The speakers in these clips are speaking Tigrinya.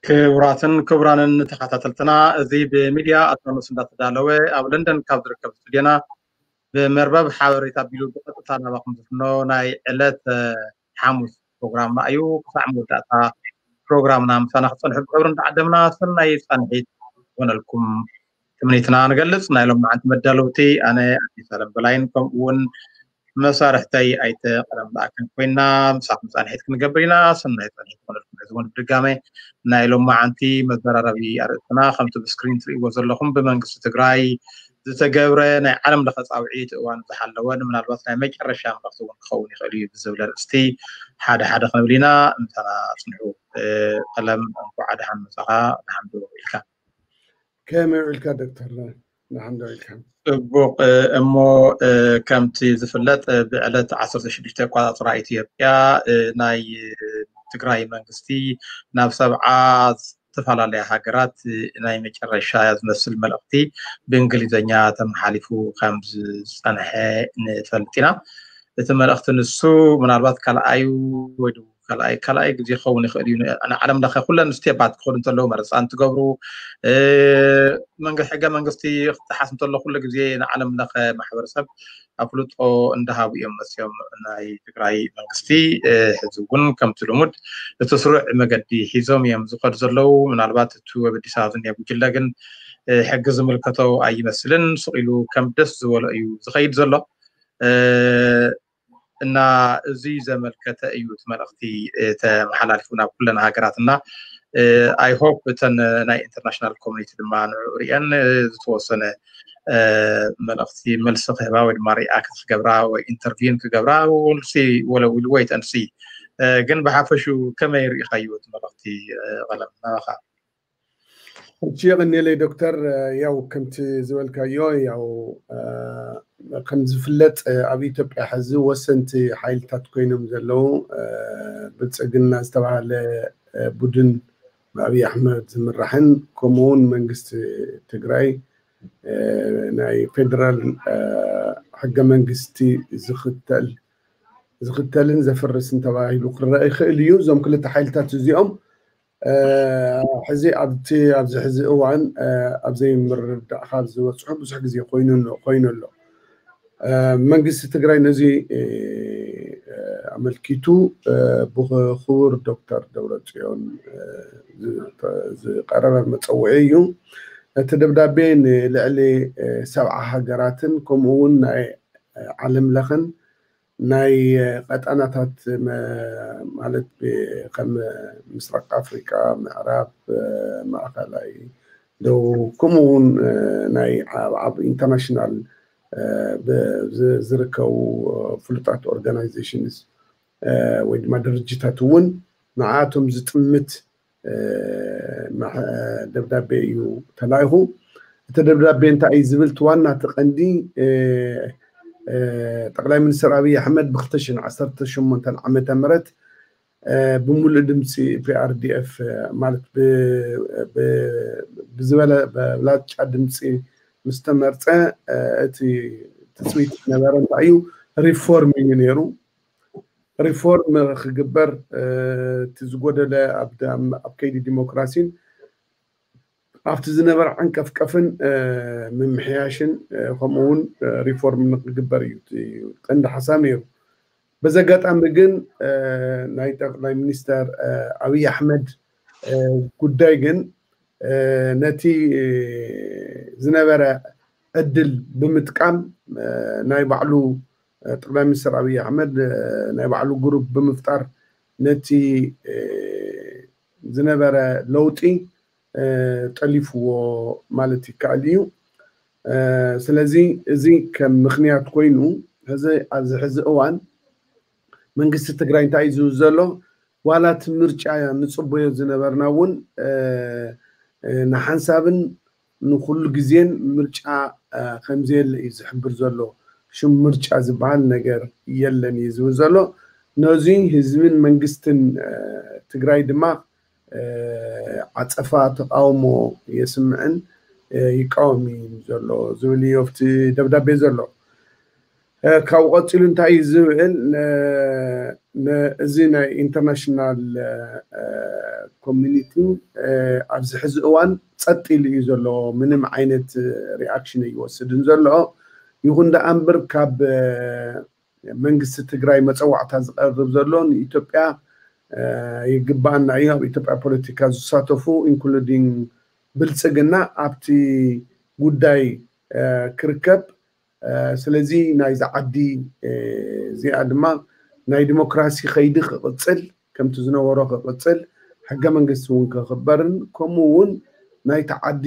ክቡራትን ክቡራንን ተኸታተልትና፣ እዚ ብሚድያ ኣትላኖስ እንዳተዳለወ ኣብ ለንደን ካብ ዝርከብ ስቱድዮና ብመርበብ ሓበሬታ ኣቢሉ ብቐጥታ ናባኹም ዝፍኖ ናይ ዕለት ሓሙስ ፕሮግራምና እዩ። ክሳዕ መወዳእታ ፕሮግራምና ምሳና ክፀንሑ ብክብሪ እንዳዓደምና ሰናይ ፃንሒት ይኾነልኩም ትምኒትና ንገልፅ። ናይ ሎም መዓንቲ መዳለውቲ ኣነ ኣዲስ ኣለም በላይን ከምኡ እውን መሳርሕተይ ኣይተ ቀለም ለኣክን ኮይና ምሳኹም ፃንሒት ክንገብር ኢና። ሰናይ ፃንሒት ይኾነልኩም። ሕዚ እውን ብድጋመ ናይ ሎም መዓንቲ መዘራረቢ ኣርእስትና ከምቲ ብስክሪን ትርእይዎ ዘለኹም ብመንግስቲ ትግራይ ዝተገብረ ናይ ዓለም ለኸ ፃውዒት እዋን ዝሓለወን ምናልባት ናይ መጨረሻ መልእኽቲ እውን ክኸውን ይኽእል እዩ ብዝብል ኣርእስቲ ሓደ ሓደ ክንብል ኢና። ምሳና ፅንሑ። ቀለም እንኳዕ ደሓን መፃኻ። ደሓን ዶ ኢልካ? ከመይ ውዒልካ ዶክተር? ደሓን ዶ ኢልካ? ፅቡቕ። እሞ ከምቲ ዝፍለጥ ብዕለት ዓሰርተ ሽዱሽተ ኣቋፃፅራ ኢትዮጵያ ናይ ትግራይ መንግስቲ ናብ ሰብዓ ዝተፈላለያ ሃገራት ናይ መጨረሻ ዝመስል መልእኽቲ ብእንግሊዝኛ ተመሓሊፉ ከም ዝፀንሐ ንፈልጥ ኢና። እቲ መልእኽቲ ንሱ ምናልባት ካልኣዩ ወይ ካልኣይ ካልኣይ ግዜ ክኸውን ይኽእል እዩ። ንዓለም ለኸ ኩለን ስቴፓት ክኸዱ እንተለዉ መረፃ እንትገብሩ መንግስቲ ሕገ መንግስቲ ክጠሓስ እንተሎ ኩሉ ግዜ ንዓለም ለኸ ማሕበረሰብ ኣፍልጦ እንዳሃቡ እዮም መፅዮም። ናይ ትግራይ መንግስቲ ሕዚ እውን ከምቲ ልሙድ እቲ ስሩዕ መገዲ ሒዞም እዮም ዝኸዱ ዘለዉ። ምናልባት እቲ ኣብ ኣዲስ ኣበባ ዝኒአ ጉጅለ ግን ሕጊ ዝምልከቶ ኣይመስልን። ስቕ ኢሉ ከም ደስ ዝበሎ እዩ ዝኸይድ ዘሎ። እና እዚ ዘመልከተ እዩ እቲ መልእኽቲ ተመሓላሊፉ ናብ ኩለን ሃገራት እና I hope እተን ናይ ኢንተርናሽናል ኮሚኒቲ ድማ ንዕኡ ሪአን ዝተወሰነ መልእኽቲ መልሲ ክህባ ወይ ድማ ሪኣክት ክገብራ ወይ ኢንተርቪን ክገብራ ወልሲ ወለው ኢሉ ወይ ተንሲ ግን ብሓፈሹ ከመይ ሪኢኻዮ እቲ መልእኽቲ ቀለም ናባኻ? እሺ የቐንየለይ ዶክተር። ያው ከምቲ ዝበልካዮ ያው ከም ዝፍለጥ ኣብ ኢትዮጵያ ሕዚ ወሰንቲ ሓይልታት ኮይኖም ዘለዉ ብልፅግና ዝተባሃለ ቡድን ብኣብይ ኣሕመድ ዝምራሕን ከምኡውን መንግስቲ ትግራይ ናይ ፌደራል ሕገ መንግስቲ ዝኽተል ዝኽተልን ዘፍርስን ተባሂሉ ክረአ ይኽእል እዩ። እዞም ክልተ ሓይልታት እዚኦም ሕዚ ኣብቲ ኣብዚ ሕዚ እዋን ኣብ ዘይምርዳእ ካብ ዝበፅሑ ብዙሕ ግዜ ኮይኑ ኮይኑ ኣሎ። መንግስቲ ትግራይ ነዚ ኣመልኪቱ ብክቡር ዶክተር ደብረፅዮን ዝቀረበ መፀውዒ እዩ። እቲ ደብዳቤ ንልዕሊ ሰብዓ ሃገራትን ከምኡ እውን ናይ ዓለም ለኽን ናይ ቀጣናታት ማለት ከም ምስራቅ ኣፍሪቃ፣ ምዕራብ፣ ማእኸላይ፣ ደቡብ ከምኡ እውን ናይ ኣብ ኢንተርናሽናል ዝርከቡ ፍሉጣት ኦርጋናይዜሽንስ ወይ ድማ ድርጅታት እውን ንዓቶም ዝጥምት ደብዳቤ እዩ ተላኢኹ። እቲ ደብዳቤ እንታይ እዩ ዝብል? እቲ ዋና እቲ ቀንዲ ጠቅላይ ሚኒስትር ኣብይ ኣሕመድ ብ ክልተ ሽሕን ዓሰርተ ሸሞንተን ዓመተ ምህረት ብምሉእ ድምፂ ፒኣርዲኤፍ ማለት ብዝበለ ብብላጫ ድምፂ ምስ ተመርፀ እቲ ትፅቢት ዝነበረ እንታይ እዩ? ሪፎርም እዩ ነይሩ። ሪፎርም ክግበር እቲ ዝጎደለ ኣብ ከይዲ ዲሞክራሲን ኣብቲ ዝነበረ ዓንቀፍቀፍን ምምሕያሽን ከምኡ እውን ሪፎርም ንክግበር እዩ ቀንዲ ሓሳብ ነይሩ። በዚ ኣጋጣሚ ግን ናይ ጠቅላይ ሚኒስተር ኣብይ ኣሕመድ ጉዳይ ግን ነቲ ዝነበረ ዕድል ብምጥቃም ናይ ባዕሉ ጠቅላይ ሚኒስትር ኣብይ ኣሕመድ ናይ ባዕሉ ግሩፕ ብምፍጣር ነቲ ዝነበረ ለውጢ ጠሊፍዎ ማለት ይከኣል እዩ። ስለዚ እዚ ከም ምክንያት ኮይኑ ሕዚ ኣብዚ ሕዚ እዋን መንግስቲ ትግራይ እንታይ እዩ ዝብል ዘሎ? ዋላ እቲ ምርጫ ንፅበዮ ዝነበርና እውን ንሓንሳብን ንኩሉ ግዜን ምርጫ ከምዘየለ እዩ ዝሕብር ዘሎ። ሽም ምርጫ ዝበሃል ነገር የለን እዩ ዝብል ዘሎ። ነዚ ህዝብን መንግስትን ትግራይ ድማ ዓፀፋ ተቃውሞ የስምዕን ይቃወም እዩ ዘሎ ዝብል እዩ ኣብቲ ደብዳቤ ዘሎ። ካብኡ ቀፂሉ እንታይ እዩ ዝብል? እዚ ናይ ኢንተርናሽናል ኮሚኒቲ ኣብዚ ሕዚ እዋን ጸጥ ኢሉ እዩ ዘሎ። ምንም ዓይነት ሪኣክሽን ኣይወስድን ዘሎ። ይኹን ደኣ እምበር ካብ መንግስቲ ትግራይ መፀዋዕታ ዝቐርብ ዘሎ ንኢትዮጵያ ይግባኣና እዩ፣ ኣብ ኢትዮጵያ ፖለቲካ ዝሳተፉ ኢንክሉዲንግ ብልፅግና ኣብቲ ጉዳይ ክርከብ። ስለዚ ናይዚ ዓዲ እዚኣ ድማ ናይ ዲሞክራሲ ከይዲ ክቕፅል፣ ከምቲ ዝነበሮ ክቕፅል፣ ሕገ መንግስቲ እውን ክኽበርን ከምኡ እውን ናይቲ ዓዲ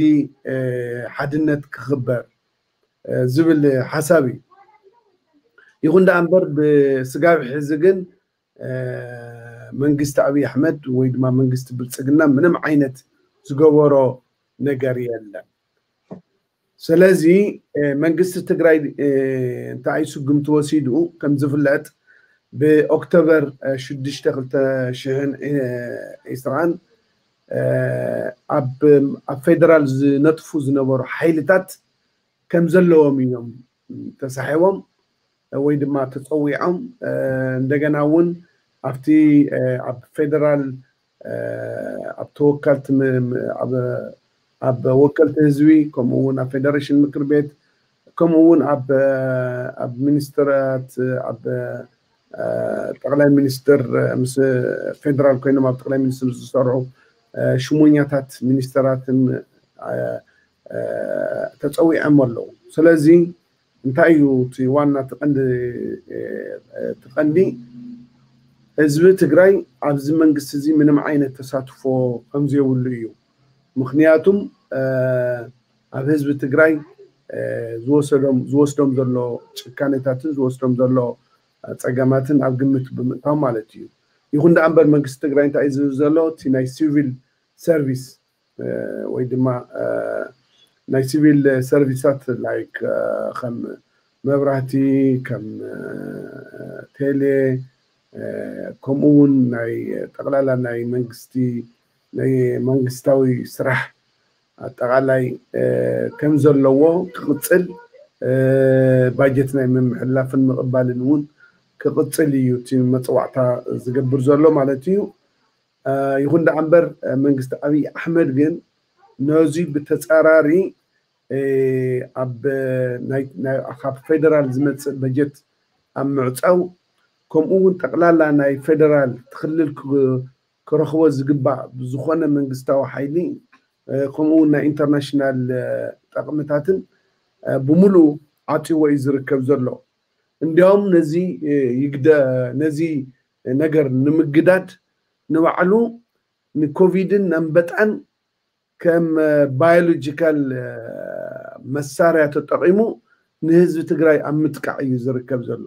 ሓድነት ክኽበር ዝብል ሓሳብ እዩ። ይኹን ደኣ እምበር ብስጋብ ሕዚ ግን መንግስቲ ኣብይ ኣሕመድ ወይ ድማ መንግስቲ ብልፅግና ምንም ዓይነት ዝገበሮ ነገር የለን። ስለዚ መንግስቲ ትግራይ እንታይ ስጉምቲ ወሲዱ ከም ዝፍለጥ ብኦክቶበር ሽዱሽተ ክልተ ሽሕን ዒስራን ኣብ ፌደራል ዝነጥፉ ዝነበሩ ሓይልታት ከም ዘለዎም እዮም ተሳሒቦም ወይ ድማ ተፀዊዖም። እንደገና እውን ኣብቲ ኣብ ፌደራል ኣብ ተወከልቲ ኣብ ወከልቲ ህዝቢ ከምኡ እውን ኣብ ፌደሬሽን ምክር ቤት ከምኡ እውን ኣብ ሚኒስትራት ኣብ ጠቅላይ ሚኒስትር ምስ ፌደራል ኮይኖም ኣብ ጠቅላይ ሚኒስትር ዝሰርሑ ሽሞኛታት ሚኒስትራትን ተፀዊዖም ኣለዉ። ስለዚ እንታይ እዩ እቲ ዋና እቲ ቀንዲ እቲ ቀንዲ ህዝቢ ትግራይ ኣብዚ መንግስቲ እዚ ምንም ዓይነት ተሳትፎ ከምዘይብሉ እዩ። ምክንያቱም ኣብ ህዝቢ ትግራይ ዝወሰዶም ዝወስዶም ዘሎ ጭካኔታትን ዝወስዶም ዘሎ ፀገማትን ኣብ ግምት ብምእታው ማለት እዩ። ይኹን ደኣ እምበር መንግስቲ ትግራይ እንታይ እዩ ዝብል ዘሎ እቲ ናይ ሲቪል ሰርቪስ ወይ ድማ ናይ ሲቪል ሰርቪሳት ላይክ ከም መብራህቲ ከም ቴሌ ከምኡ እውን ናይ ጠቅላላ ናይ መንግስቲ ናይ መንግስታዊ ስራሕ ኣጠቃላይ ከም ዘለዎ ክቅፅል ባጀት ናይ ምምሕልላፍን ምቅባልን እውን ክቅፅል እዩ እቲ መፅዋዕታ ዝገብር ዘሎ ማለት እዩ። ይኹን ደኣ እምበር መንግስቲ ኣብይ ኣሕመድ ግን ነዚ ብተፃራሪ ኣብ ካብ ፌደራል ዝመፅእ በጀት ኣብ ምዕፃው ከምኡ እውን ጠቅላላ ናይ ፌደራል ትክልል ክረኽቦ ዝግባእ ብዝኾነ መንግስታዊ ሓይሊ ከምኡ እውን ናይ ኢንተርናሽናል ጠቅምታትን ብምሉእ ዓፂዎ እዩ ዝርከብ ዘሎ። እንዲያውም ነዚ ይግደ ነዚ ነገር ንምግዳድ ንባዕሉ ንኮቪድን ኣንበጣን ከም ባዮሎጂካል መሳርያ ተጠቂሙ ንህዝቢ ትግራይ ኣብ ምጥቃዕ እዩ ዝርከብ ዘሎ።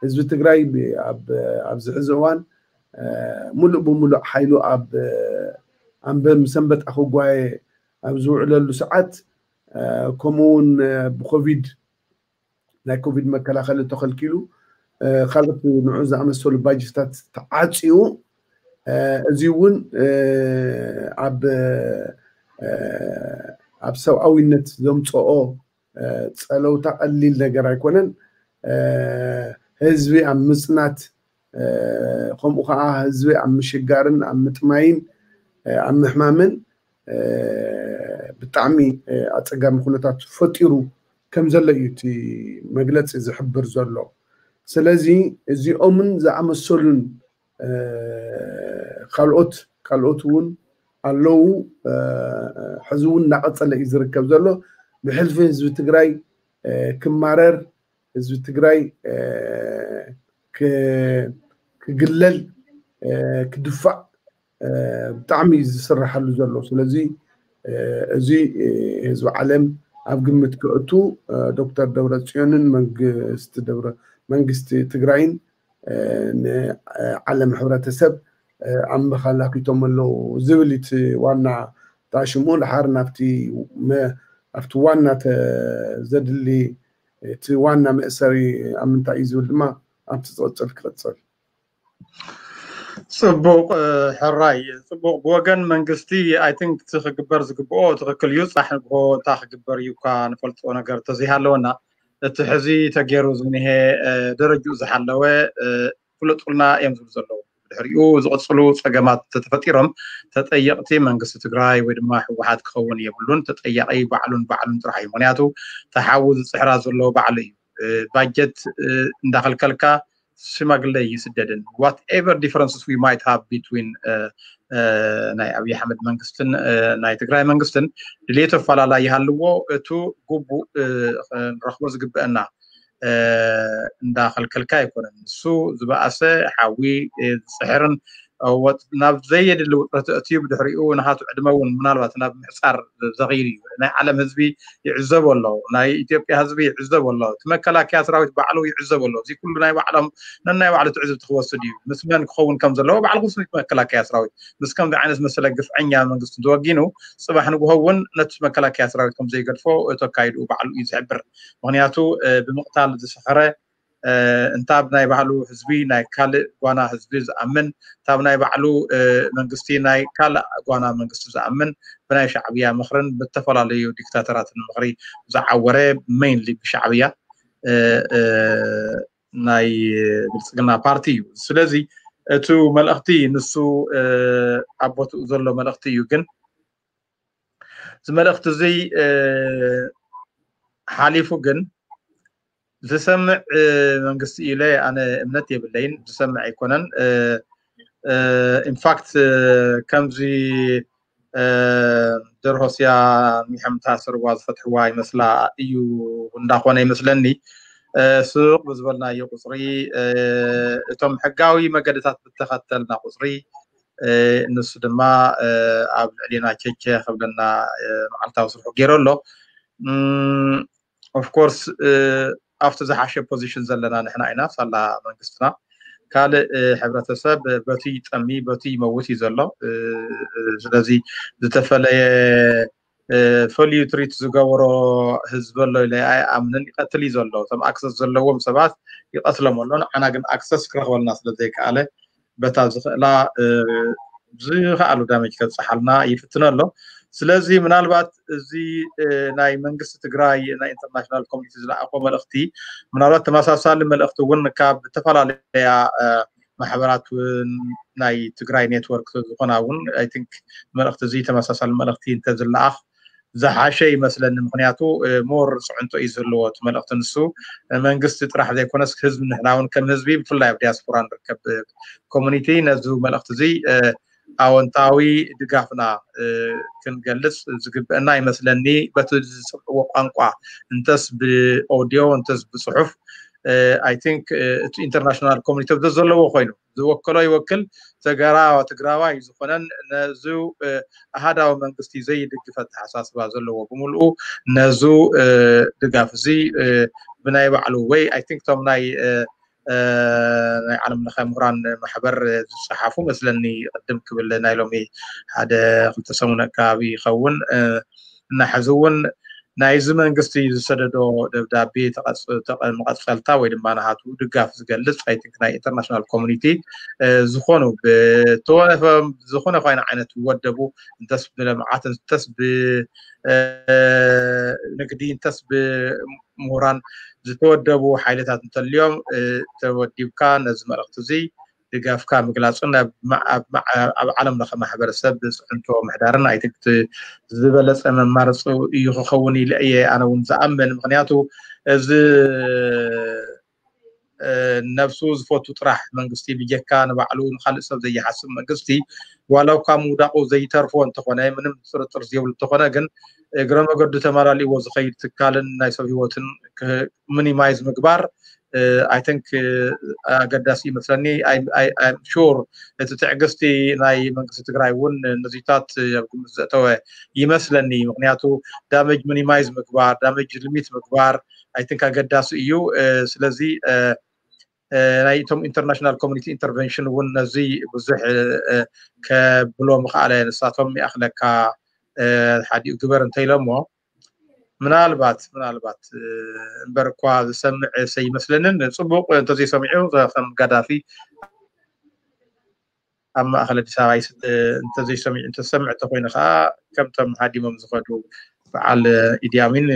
ህዝቢ ትግራይ ኣብዚ ሕዚ እዋን ሙሉእ ብሙሉእ ሓይሉ ኣብ ኣንበ ምስ ኣንበጣ ክጓየ ኣብ ዝውዕለሉ ሰዓት ከምኡ እውን ብኮቪድ ናይ ኮቪድ መከላኸሊ ተኸልኪሉ ካልኦት ንዑ ዝኣመሰሉ ባጀታት ተዓፅዩ እዚ እውን ኣብ ኣብ ሰብኣዊነት ዘምፅኦ ፀለውታ ቀሊል ነገር ኣይኮነን። ህዝቢ ኣብ ምፅናት ከምኡ ከዓ ህዝቢ ኣብ ምሽጋርን ኣብ ምጥማይን ኣብ ምሕማምን ብጣዕሚ ኣፀጋሚ ኩነታት ፈጢሩ ከም ዘሎ እዩ እቲ መግለፂ ዝሕብር ዘሎ። ስለዚ እዚኦምን ዝኣመሰሉን ካልኦት ካልኦት እውን ኣለዉ። ሕዚ እውን እናቐፀለ እዩ ዝርከብ ዘሎ። ብሕልፊ ህዝቢ ትግራይ ክማረር፣ ህዝቢ ትግራይ ክግለል፣ ክድፋእ ብጣዕሚ እዩ ዝስራሓሉ ዘሎ። ስለዚ እዚ ህዝቢ ዓለም ኣብ ግምት ክእቱ ዶክተር ደብረፅዮንን መንግስቲ ደብረ መንግስቲ ትግራይን ንዓለም ሕብረተሰብ ኣመኻላኪቶም ኣለዉ ዝብል እቲ ዋና ታሽሙ ድሓር ናብቲ ኣብቲ ዋና ዘድሊ እቲ ዋና መእሰሪ ኣብ ምንታይ እዩ ዝብል ድማ ኣብቲ ዝቕፅል ክቕፅል። ፅቡቅ ሕራይ ፅቡቅ ብወገን መንግስቲ ኣይ ቲንክ እቲ ክግበር ዝግብኦ ትክክል እዩ። ፅባሕ ንግሆ እንታይ ክግበር እዩ እኳ ንፈልጦ ነገር ተዘይሃለወና እቲ ሕዚ ተገይሩ ዝኒሄ ደረጅኡ ዝሓለወ ፍለጡልና እዮም ዝብሉ ዘለዉ። ድሕሪኡ ዝቕፅሉ ፀገማት እንተተፈጢሮም ተጠየቕቲ መንግስቲ ትግራይ ወይ ድማ ህወሓት ክኸውን የብሉን። ተጠያቂ ባዕሉን ባዕሉን ጥራሕ እዩ። ምክንያቱ ተሓዊ ዝፅሕራ ዘሎ ባዕሉ እዩ። ባጀት እንዳኸልከልካ ሽማግለ ይስደድን። Whatever differences we might have between ናይ ኣብይ ኣሕመድ መንግስትን ናይ ትግራይ መንግስትን ድሌት ኣፈላላይ ይሃልዎ፣ እቱ ግቡእ ክንረኽቦ ዝግበአና እንዳኸልከልካ ኣይኮነን። ንሱ ዝበኣሰ ሓዊ ዝፅሕርን ናብ ዘየድሊ ውጥረት ኣእትዩ ብድሕሪኡ ንሃቱ ዕድመ እውን ምናልባት ናብ ምሕፃር ዘኽይድ እዩ። ናይ ዓለም ህዝቢ ይዕዘቦ ኣሎ፣ ናይ ኢትዮጵያ ህዝቢ ይዕዘቦ ኣሎ፣ እቲ መከላከያ ሰራዊት ባዕሉ ይዕዘቦ ኣሎ። እዚ ኩሉ ናይ ባዕሎም ነናይ ባዕሉ ትዕዝብቲ ክወስድ እዩ። ምስ መን ክኸውን ከም ዘለዎ ባዕልኩም ስሚት መከላከያ ሰራዊት ምስ ከምዚ ዓይነት መሰለ ግፍዐኛ መንግስቲ እንተወጊኑ ፅባሕ ንግሆ እውን ነቲ መከላከያ ሰራዊት ከም ዘይገድፎ ተካይዱ ባዕሉ እዩ ዝሕብር። ምክንያቱ ብምቕታል ዝሰኸረ እንታብ ናይ ባህሉ ህዝቢ ናይ ካልእ ጓና ህዝቢ ዝኣምን፣ እንታብ ናይ ባዕሉ መንግስቲ ናይ ካልእ ጓና መንግስቲ ዝኣምን፣ ብናይ ሻዕብያ ምኽርን ብተፈላለዩ ዲክታተራትን ምኽሪ ዝዓወረ፣ ሜይንሊ ብሻዕብያ ናይ ብልፅግና ፓርቲ እዩ። ስለዚ እቱ መልእኽቲ ንሱ ኣብ ቦትኡ ዘሎ መልእኽቲ እዩ። ግን እዚ መልእኽቲ እዚ ሓሊፉ ግን ዝሰምዕ መንግስቲ ኢለ ኣነ እምነት የብለይን። ዝሰምዕ ኣይኮነን። ኢንፋክት ከምዚ ደርሆስያ ሚሐምታ ስርዋ ዝፈትሕዋ ይመስላ እዩ እንዳኾነ ይመስለኒ። ስቕ ብዝበልናዮ ቁፅሪ፣ እቶም ሕጋዊ መገድታት ብተኸተልና ቁፅሪ፣ ንሱ ድማ ኣብ ልዕሊና ቸቸ ክብለና መዓልታዊ ስርሑ ገይሩ ኣሎ። ኦፍኮርስ ኣብቲ ዝሓሸ ፖዚሽን ዘለና ንሕና ኢና፣ ሳላ መንግስትና። ካልእ ሕብረተሰብ በቲ ይጠሚ በቲ ይመውት እዩ ዘሎ። ስለዚ ዝተፈለየ ፈልዩ ትሪት ዝገበሮ ህዝቢ ኣሎ ኢለ ኣይኣምንን። ይቐትል እዩ ዘሎ። እቶም ኣክሰስ ዘለዎም ሰባት ይቐትሎም ኣሎ። ንዓና ግን ኣክሰስ ክረኽበልና ስለ ዘይከኣለ በታ ዝኽእላ ዝኸኣሉ ዳሜጅ ከብፅሓልና ይፍትን ኣሎ። ስለዚ ምናልባት እዚ ናይ መንግስቲ ትግራይ ናይ ኢንተርናሽናል ኮሚኒቲ ዝለኣኾ መልእኽቲ ምናልባት ተመሳሳሊ መልእኽቲ እውን ካብ ዝተፈላለያ ማሕበራት እውን ናይ ትግራይ ኔትወርክ ዝኾና እውን ኣይ ቲንክ መልእኽቲ እዚ ተመሳሳሊ መልእኽቲ እንተዝለኣኽ ዝሓሸ ይመስለኒ። ምክንያቱ ሞር ፅዕንቶ እዩ ዘለዎ እቲ መልእኽቲ ንሱ። መንግስቲ ጥራሕ ዘይኮነስ ህዝቢ ንሕና እውን ከም ህዝቢ ብፍላይ ኣብ ዲያስፖራ ንርከብ ኮሚኒቲ ነዚ መልእኽቲ እዚ ኣወንታዊ ድጋፍና ክንገልፅ ዝግበአና ይመስለኒ። በቲ ዝሰምዕዎ ቋንቋ እንተስ ብኦዲዮ እንተስ ብፅሑፍ ኣይ ቲንክ እቲ ኢንተርናሽናል ኮሚኒቲ ዘለዎ ኮይኑ ዝወከሎ ይወክል። ተገራ ትግራዋይ ዝኾነን ነዚ ኣሃዳዊ መንግስቲ ዘይድግፍ ኣተሓሳስባ ዘለዎ ብምልኡ ነዚ ድጋፍ እዚ ብናይ ባዕሉ ወይ ኣይ ቲንክ ቶም ናይ ናይ ዓለም ለኸ ምሁራን ማሕበር ዝፀሓፉ መስለኒ ቅድም ክብል ናይ ሎሚ ሓደ ክልተ ሰሙን ኣካባቢ ይኸውን እናሕዚ እውን ናይዚ መንግስቲ ዝሰደዶ ደብዳቤ መቐፀልታ ወይ ድማ ናሃቱ ድጋፍ ዝገልፅ ኣይ ቲንክ ናይ ኢንተርናሽናል ኮሚኒቲ ዝኾኑ ብተወፈ ዝኾነ ኮይነ ዓይነት ወደቡ እንተስ ብልምዓት እንተስ ብንግዲ እንተስ ብምሁራን ዝተወደቡ ሓይልታት እንተልዮም ተወዲብካ ነዚ መልእኽቲ እዚ ድጋፍካ ምግላፅን ኣብ ዓለም ለኸ ማሕበረሰብ ብፅዕንቶ ምሕዳርን ኣይ ቲንክ ዝበለፀ መማረፂ እዩ ክኸውን ኢለ እየ ኣነ እውን ዝኣምን። ምክንያቱ እዚ ነብሱ ዝፈቱ ጥራሕ መንግስቲ ብጀካ ንባዕሉ ንካልእ ሰብ ዘይሓስብ መንግስቲ ዋላ እኳ ምውዳቁ ዘይተርፎ እንተኾነ ምንም ጥርጥር ዘይብሉ እንተኾነ ግን እግረ መገዱ ተመላሊእዎ ዝኸይድ ትካልን ናይ ሰብ ህይወትን ሚኒማይዝ ምግባር ኣይ ቲንክ ኣገዳሲ ይመስለኒ። ሹር እቲ ትዕግስቲ ናይ መንግስቲ ትግራይ እውን ነዚታት ኣብ ግምት ዘእተወ ይመስለኒ። ምክንያቱ ዳመጅ ሚኒማይዝ ምግባር ዳመጅ ሊሚት ምግባር ኣይ ቲንክ ኣገዳሲ እዩ። ስለዚ ናይ እቶም ኢንተርናሽናል ኮሚኒቲ ኢንተርቨንሽን እውን ነዚ ብዙሕ ከብሎ ምኽኣለ። ንሳቶም ይኣኽለካ ሓዲኡ ግበር እንተኢሎሞ ምናልባት ምናልባት እምበር እኳ ዝሰምዕ ሰይመስለንን ፅቡቅ እንተዘይሰሚዑ ከም ጋዳፊ ኣብ ማእኸል ኣዲስ ኣበባ እንተዘይሰሚዑ እንተሰምዕ እንተኮይኑ ከዓ ከምቶም ሃዲሞም ዝኸዱ በዓል ኢዲ ኣሚን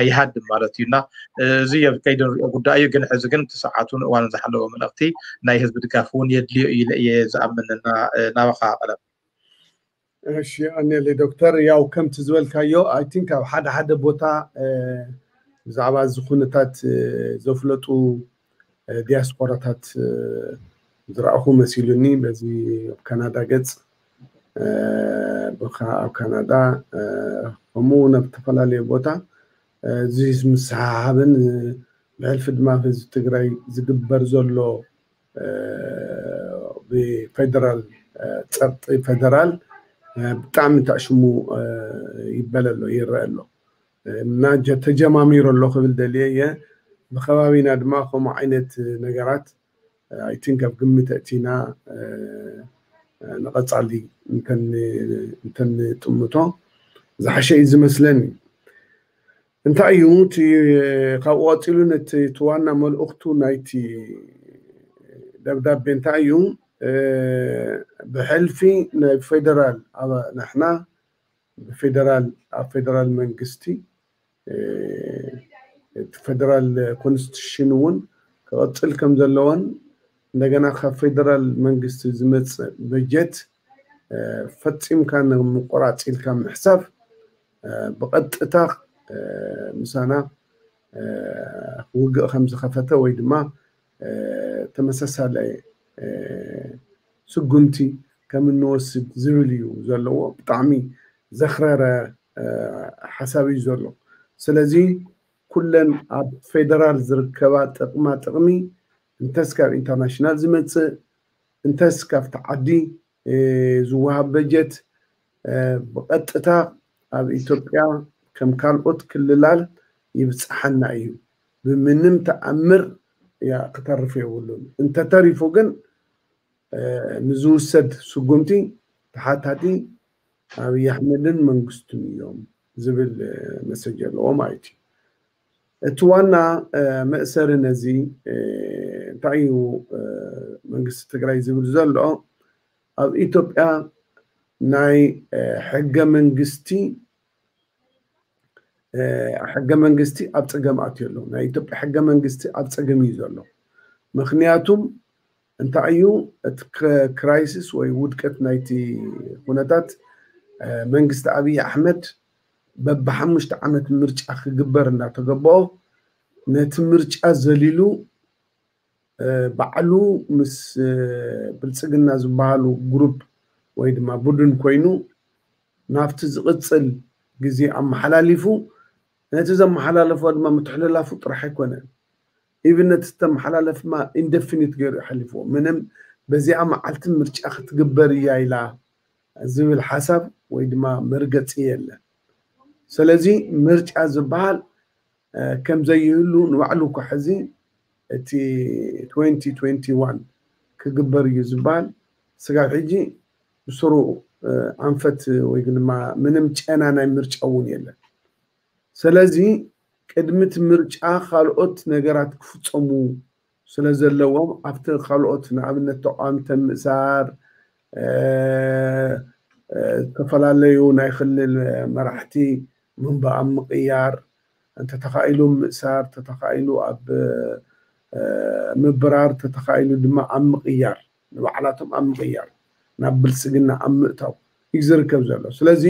ይሃድም ማለት እዩ። እና እዚ ኣብ ከይዲ ንሪኦ ጉዳይ እዩ። ግን ሕዚ ግን እቲ ሰዓቱን እዋኑን ዝሓለወ መልእኽቲ ናይ ህዝቢ ድጋፍ እውን የድልዮ እዩ ኢለ እየ ዝኣምን። እና ናባኻ ቀለም። እሺ ኣኔለ ዶክተር፣ ያው ከምቲ ዝበልካዮ፣ I think ኣብ ሓደ ሓደ ቦታ ብዛዕባ እዚ ኩነታት ዘፍለጡ ዲያስፖራታት ዝረኣኹ መሲሉኒ። በዚ ኣብ ካናዳ ገጽ፣ ኣብ ካናዳ፣ ከምኡ እውን ኣብ ዝተፈላለዩ ቦታ፣ እዚ ምስሓብን ብሕልፊ ድማ ህዝቢ ትግራይ ዝግበር ዘሎ ብፌደራል ጸቕጢ ፌደራል ብጣዕሚ ተዕሽሙ ይበለ ኣሎ፣ ይረአ ኣሎ። እና ተጀማሚሩ ኣሎ ክብል ደልየ እየ። ብከባቢና ድማ ከምኡ ዓይነት ነገራት፣ I think፣ ኣብ ግምት ኣእቲና ንቐጻሊ እንተንጥምቶ ዝሓሸ እዩ ዝመስለኒ። እንታይ እዩ እቲ ካብኡ ቀጺሉ ነቲ ዋና መልእኽቱ ናይቲ ደብዳቤ እንታይ እዩ? ብሕልፊ ናይ ፌደራል፣ ንሕና ብፌደራል፣ ኣብ ፌደራል መንግስቲ፣ እቲ ፌደራል ኮንስቲቱሽን እውን ክቐጽል ከም ዘለዎን፣ እንደገና ካብ ፌደራል መንግስቲ ዝመጽእ በጀት ፈጺምካ ንምቁራጽ ኢልካ ምሕሳብ ብቐጥታ ምሳና ውግእ ከም ዝኸፈተ ወይ ድማ ተመሳሳሊ ስጉምቲ ከም እንወስድ ዝብል እዩ ዘለዎ። ብጣዕሚ ዘኽረረ ሓሳብ እዩ ዘሎ። ስለዚ ኩለን ኣብ ፌደራል ዝርከባ ጥቕማ ጥቕሚ እንተስ ካብ ኢንተርናሽናል ዝመጽእ እንተስ ካብቲ ዓዲ ዝወሃብ በጀት ብቐጥታ ኣብ ኢትዮጵያ ከም ካልኦት ክልላት ይብጽሓና እዩ። ብምንም ተኣምር ክተርፍ የብሉን። እንተተሪፉ ግን ንዝውሰድ ስጉምቲ ተሓታቲ ኣብይ ኣሕመድን መንግስቱን እዮም ዝብል መሰጅ ኣለዎ ማለት እዩ። እቲ ዋና መእሰሪ ነዚ እንታይ እዩ መንግስቲ ትግራይ ዝብል ዘሎ? ኣብ ኢትዮጵያ ናይ ሕገ መንግስቲ ሕገ መንግስቲ ኣብ ፀገም ኣትዩ ኣሎ። ናይ ኢትዮጵያ ሕገ መንግስቲ ኣብ ፀገም እዩ ዘሎ። ምክንያቱም እንታይ እዩ እቲ ክራይሲስ ወይ ውድቀት ናይቲ ኩነታት? መንግስቲ ኣብይ ኣሕመድ በብሓሙሽተ ዓመት ምርጫ ክግበር እናተገበኦ ነቲ ምርጫ ዘሊሉ ባዕሉ ምስ ብልፅግና ዝበሃሉ ግሩፕ ወይ ድማ ቡድን ኮይኑ ናብቲ ዝቕፅል ግዜ ኣመሓላሊፉ፣ ነቲ ዘመሓላለፎ ድማ ምትሕልላፉ ጥራሕ ኣይኮነን። ኢቭን ነቲ ዝተመሓላለፍማ ኢንደፊኒት ገይሩ ይሓሊፍዎ። ምንም በዚኣ መዓልቲ ምርጫ ክትግበር እያ ኢላ ዝብል ሓሳብ ወይ ድማ መርገፂ የለን። ስለዚ ምርጫ ዝበሃል ከም ዘይህሉ ንባዕሉ እኳ ሕዚ እቲ ትወንቲ ትወንቲ ዋን ክግበር እዩ ዝበሃል ስጋብ ሕጂ ብስሩ ኣንፈት ወይ ድማ ምንም ጨና ናይ ምርጫ እውን የለን። ስለዚ ቅድሚ እቲ ምርጫ ካልኦት ነገራት ክፍፀሙ ስለ ዘለዎም ኣብቲ ካልኦት ንኣብነት ተቃዋምቲ ምእሳር፣ ዝተፈላለዩ ናይ ክልል መራሕቲ ምንባኣም ምቕያር፣ እንተተኻኢሉ ምእሳር፣ እንተተኻኢሉ ኣብ ምብራር፣ እንተተኻኢሉ ድማ ኣብ ምቕያር፣ ንባዕላቶም ኣብ ምቕያር፣ ናብ ብልፅግና ኣብ ምእታው እዩ ዝርከብ ዘሎ። ስለዚ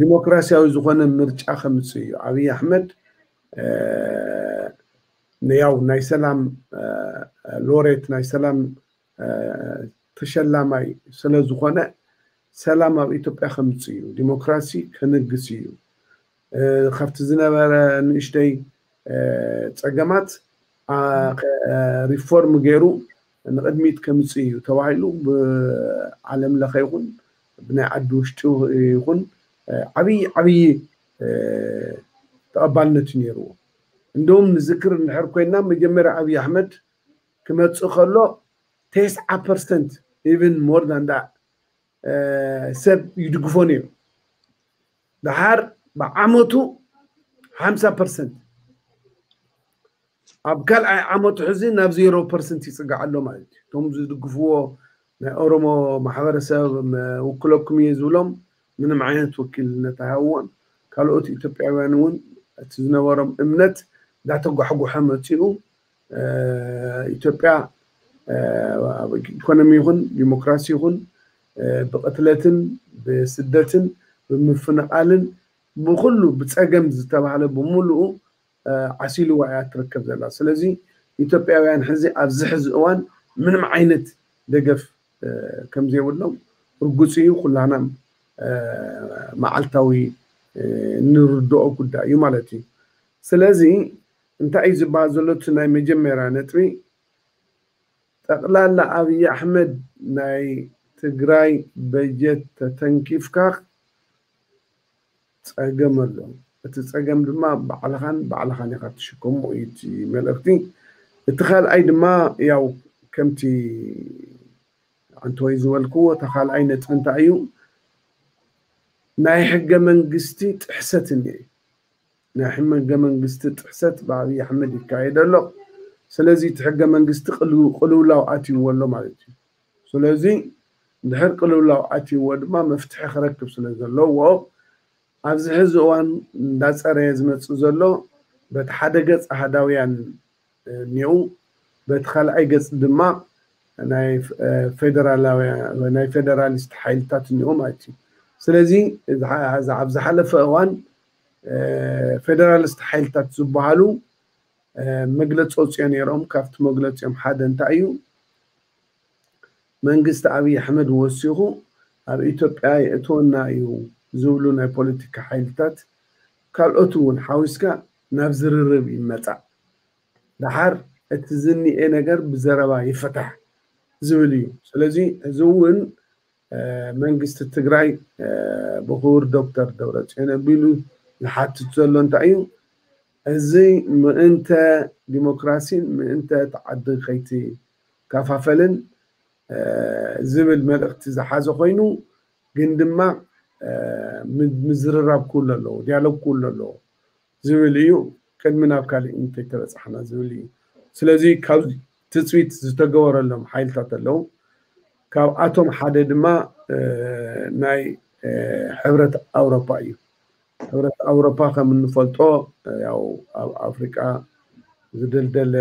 ዲሞክራሲያዊ ዝኾነ ምርጫ ከምፅእ እዩ። ኣብይ ኣሕመድ ያው ናይ ሰላም ሎሬት፣ ናይ ሰላም ተሸላማይ ስለ ዝኾነ ሰላም ኣብ ኢትዮጵያ ከምፅእ እዩ፣ ዲሞክራሲ ከነግስ እዩ። ካብቲ ዝነበረ ንእሽተይ ፀገማት ሪፎርም ገይሩ ንቕድሚት ከምፅእ እዩ ተባሂሉ ብዓለም ለኸ ይኹን ብናይ ዓዲ ውሽጢ ይኹን ዓብዪ ዓብዪ ተቐባልነት እዩ ነይርዎ። እንደውም ንዝክር እንድሕር ኮይና መጀመርያ ኣብይ ኣሕመድ ክመፅእ ከሎ ተስዓ ፐርሰንት፣ even more than that፣ ሰብ ይድግፎ ነይሩ። ደሓር ብዓመቱ ሓምሳ ፐርሰንት፣ ኣብ ካልኣይ ዓመቱ ሕዚ ናብ ዜሮ ፐርሰንት ይፅጋዕ ኣሎ ማለት እዩ። እቶም ዝድግፍዎ ናይ ኦሮሞ ማሕበረሰብ ውክለኩም እየ ዝብሎም ምንም ዓይነት ወኪልነት ኣይሃብዎን። ካልኦት ኢትዮጵያውያን እውን እቲ ዝነበሮም እምነት እንዳተጓሕጎሐ መፂኡ። ኢትዮጵያ ኢኮኖሚ ይኹን ዲሞክራሲ ይኹን ብቅትለትን ብስደትን ብምፍንቓልን ብኩሉ ብፀገም ዝተባህለ ብምሉኡ ዓሲልዋ እያ ትርከብ ዘላ። ስለዚ ኢትዮጵያውያን ሕዚ ኣብዚ ሕዚ እዋን ምንም ዓይነት ደገፍ ከም ዘይብሎም ርጉፅ እዩ። ኩላና መዓልታዊ እንርድኦ ጉዳይ እዩ ማለት እዩ። ስለዚ እንታይ እዩ ዝበሃል ዘሎ? እቲ ናይ መጀመርያ ነጥቢ ጠቕላላ ኣብይ ኣሕመድ ናይ ትግራይ በጀት ተተንኪፍካ ፀገም ኣሎ። እቲ ፀገም ድማ ባዕልኻን ባዕልኻን ኢኻ ትሽከሞ እዩ እቲ መልእኽቲ። እቲ ካልኣይ ድማ ያው ከምቲ ኣንተወይ ዝበልክዎ እቲ ካልኣይ ነጥቢ እንታይ እዩ? ናይ ሕገ መንግስቲ ጥሕሰት እኒአ። ናይ ሕገ መንግስቲ ጥሕሰት ብኣብይ ኣሕመድ ይካየድ ኣሎ። ስለዚ እቲ ሕገ መንግስቲ ቅልውላው ኣትይዎ ኣሎ ማለት እዩ። ስለዚ ድሕር ቅልውላው ኣትይዎ ድማ መፍትሒ ክረክብ ስለ ዘለዎ ኣብዚ ሕዚ እዋን እንዳፀረየ ዝመፅእ ዘሎ በቲ ሓደ ገፅ ኣሃዳውያን እኒኡ፣ በቲ ካልኣይ ገፅ ድማ ናይ ፌደራላውያን ናይ ፌደራሊስት ሓይልታት እኒኡ ማለት እዩ። ስለዚ ኣብ ዝሓለፈ እዋን ፌደራሊስት ሓይልታት ዝበሃሉ መግለፂ ኣውፅኦ ነይሮም። ካብቲ መግለፂኦም ሓደ እንታይ እዩ? መንግስቲ ኣብይ ኣሕመድ ወሲኹ ኣብ ኢትዮጵያ የእትወና እዩ ዝብሉ ናይ ፖለቲካ ሓይልታት ካልኦት እውን ሓዊስካ ናብ ዝርርብ ይመፃእ። ደሓር እቲ ዝኒኤ ነገር ብዘረባ ይፈታሕ ዝብል እዩ። ስለዚ እዚ እውን መንግስቲ ትግራይ ብክቡር ዶክተር ደብረፅዮን ኣቢሉ ዝሓትት ዘሎ እንታይ እዩ? እዚ ምእንተ ዲሞክራሲን ምእንተ ተዓዲ ከይትከፋፈልን ዝብል መልእኽቲ ዝሓዘ ኮይኑ ግን ድማ ምዝርራብ ክህሉ ኣለዎ፣ ዲያሎግ ክህሉ ኣለዎ ዝብል እዩ። ቅድሚ ናብ ካሊእ እንተይተበፃሕና ዝብል እዩ። ስለዚ ካብ ትፅቢት ዝተገበረሎም ሓይልታት ኣለዉ። ካብኣቶም ሓደ ድማ ናይ ሕብረት ኣውሮፓ እዩ። ሕብረት ኣውሮፓ ከም እንፈልጦ ያው ኣብ ኣፍሪቃ ዝደልደለ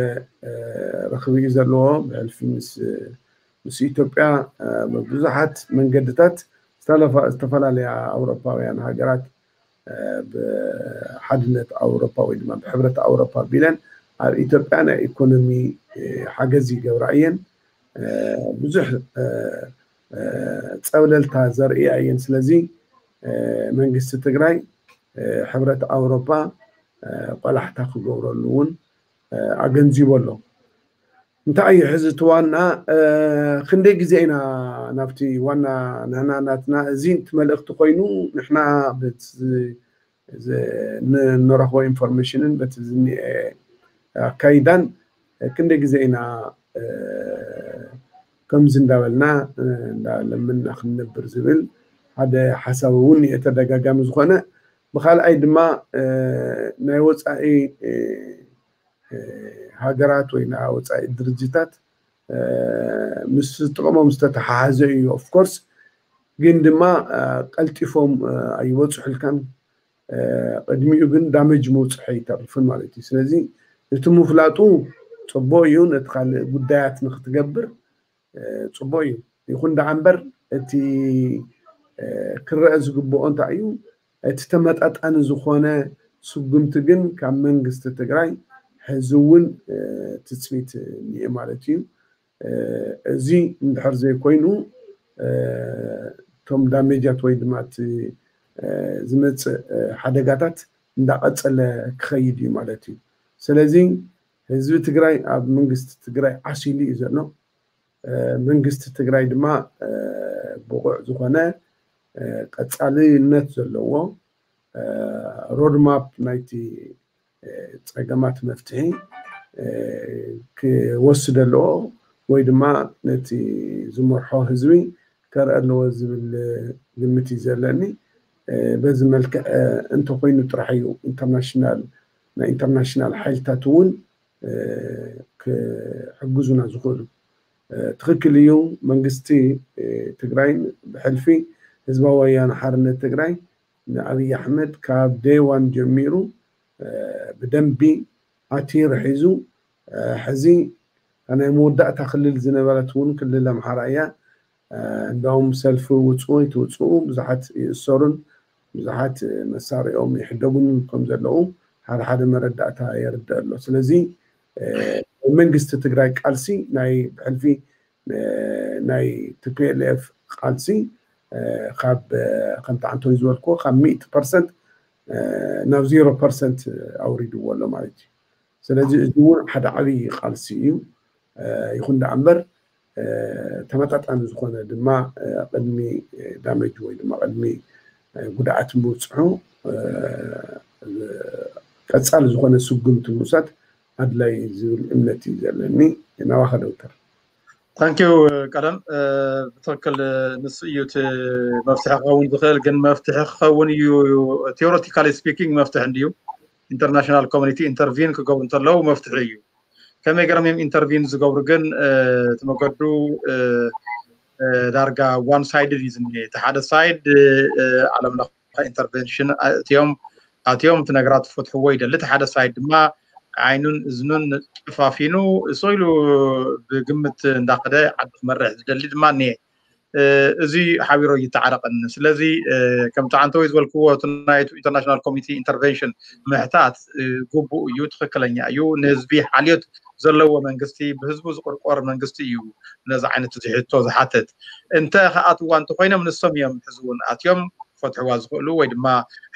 ርክብ እዩ ዘለዎ። ብሕልፊ ምስ ምስ ኢትዮጵያ ብብዙሓት መንገድታት ዝተፈላለያ ኣውሮፓውያን ሃገራት ብሓድነት ኣውሮፓ ወይ ድማ ብሕብረት ኣውሮፓ ቢለን ኣብ ኢትዮጵያ ናይ ኢኮኖሚ ሓገዝ ይገብራ እየን። ብዙሕ ፀብለልታ ዘርእያ እየን። ስለዚ መንግስቲ ትግራይ ሕብረት ኣውሮፓ ቆላሕታ ክገብረሉ እውን ኣገንዚቡ ኣሎ። እንታይ እዩ ሕዚ እቲ ዋና ክንደይ ግዜ ኢና ናብቲ ዋና ንሕና ናትና እዚ እቲ መልእኽቲ ኮይኑ ንሕና በቲ ንረኽቦ ኢንፎርሜሽንን በቲ ዝኒኤ ኣካይዳን ክንደይ ግዜ ኢና ከምዚ እንዳበልና እንዳለምንና ክንነብር ዝብል ሓደ ሓሳብ እውን እየ ተደጋጋሚ ዝኾነ። ብካልኣይ ድማ ናይ ወፃኢ ሃገራት ወይ ናይ ወፃኢ ድርጅታት ምስ ጥቕሞም ዝተተሓሓዘ እዩ። ኦፍኮርስ ግን ድማ ቀልጢፎም ኣይበፅሑልካን። ቅድሚኡ ግን ዳመጅ ምውፅሑ ኣይተርፍን ማለት እዩ። ስለዚ እቲ ምፍላጡ ፅቡቅ እዩ፣ ነቲ ካልእ ጉዳያት ንክትገብር ፅቡቅ እዩ። ይኹን ደኣ እምበር እቲ ክረአ ዝግብኦ እንታይ እዩ? እቲ ተመጣጣኒ ዝኾነ ስጉምቲ ግን ካብ መንግስቲ ትግራይ ሕዚ እውን ትፅቢት እኒአ ማለት እዩ። እዚ እንድሕር ዘይኮይኑ እቶም ዳሜጃት ወይ ድማ እቲ ዝመፅእ ሓደጋታት እንዳቐፀለ ክኸይድ እዩ ማለት እዩ። ስለዚ ህዝቢ ትግራይ ኣብ መንግስቲ ትግራይ ዓሲሉ እዩ ዘሎ። መንግስቲ ትግራይ ድማ ብቑዕ ዝኾነ ቀፃልነት ዘለዎ ሮድማፕ ናይቲ ፀገማት መፍትሒ ክወስድ ኣለዎ ወይ ድማ ነቲ ዝመርሖ ህዝቢ ከርኢ ኣለዎ ዝብል ግምት እዩ ዘለኒ። በዚ መልክዕ እንተኮይኑ ጥራሕ እዩ ኢንተርናሽናል ናይ ኢንተርናሽናል ሓይልታት እውን ክሕግዙና ዝኽእሉ። ትኽክል እዩ። መንግስቲ ትግራይን ብሕልፊ ህዝባዊ ወያነ ሓርነት ትግራይ ንኣብይ ኣሕመድ ካብ day one ጀሚሩ ብደንቢ ኣቲሩ ሒዙ፣ ሕዚ ናይ መወዳእታ ክልል ዝነበረት እውን ክልል ኣምሓራ እያ። እንደውም ሰልፊ ውፅኡ ኣይትውፅኡ ብዙሓት ይእሰሩን ብዙሓት መሳሪኦም ይሕደጉን ከም ዘለዉ ሓደ ሓደ መረዳእታ የርድእ ኣሎ። ስለዚ መንግስቲ ትግራይ ቃልሲ ናይ ብሕልፊ ናይ ቲ ፒ ኤል ኤፍ ቃልሲ ካብ ከምቲ ዓንቶይ ዝበልክዎ ካብ ሚእቲ ፐርሰንት ናብ ዜሮ ፐርሰንት ኣውሪድዎ ኣሎ ማለት እዩ። ስለዚ እዚ እውን ሓደ ዓብዪ ቃልሲ እዩ። ይኹን ደኣ እምበር ተመጣጣኒ ዝኾነ ድማ ቅድሚ ዳመጅ ወይ ድማ ቅድሚ ጉድኣት ምብፅሑ ቀፃሊ ዝኾነ ስጉምቲ ምውሳድ ኣድላይ ዝብል እምነት እዩ ዘለኒ። ናባኻ ዶክተር። ታንኪዩ ቀደም ብትክክል ንሱ እዩ እቲ መፍትሒ ክኸውን ዝኽእል። ግን መፍትሒ ክኸውን እዩ ቴዎሬቲካሊ ስፒኪንግ መፍትሒ እንድዩ። ኢንተርናሽናል ኮሚኒቲ ኢንተርቪን ክገብሩ እንተለዉ መፍትሒ እዩ። ከመይ ገይሮም እዮም ኢንተርቪን ዝገብሩ ግን እቲ መገዱ ዳርጋ ዋን ሳይድድ እዩ ዝኒሄ። እቲ ሓደ ሳይድ ዓለም ለኸ ኢንተርቨንሽን እትዮም ኣትዮም እቲ ነገራት ክፈትሕዎ ይደሊ። እቲ ሓደ ሳይድ ድማ ዓይኑን እዝኑን ጨፋፊኑ እሱ ኢሉ ብግምት እንዳኸደ ዓዲ ክመርሕ ዝደሊ ድማ እኒሄ። እዚ ሓቢሮ ይተዓረቀኒ። ስለዚ ከምቲ ዓንተወይ ዝበልክዎ እቲ ናይ ኢንተርናሽናል ኮሚኒቲ ኢንተርቨንሽን ምሕታት ግቡእ እዩ፣ ትኽክለኛ እዩ። ንህዝቢ ሓልዮት ዘለዎ መንግስቲ ብህዝቡ ዝቆርቆር መንግስቲ እዩ ነዚ ዓይነት እዚ ሕቶ ዝሓትት። እንተ ክኣትዋ እንተኮይኖም ንሶም እዮም ሕዚ እውን ኣትዮም ክፈትሕዋ ዝኽእሉ ወይ ድማ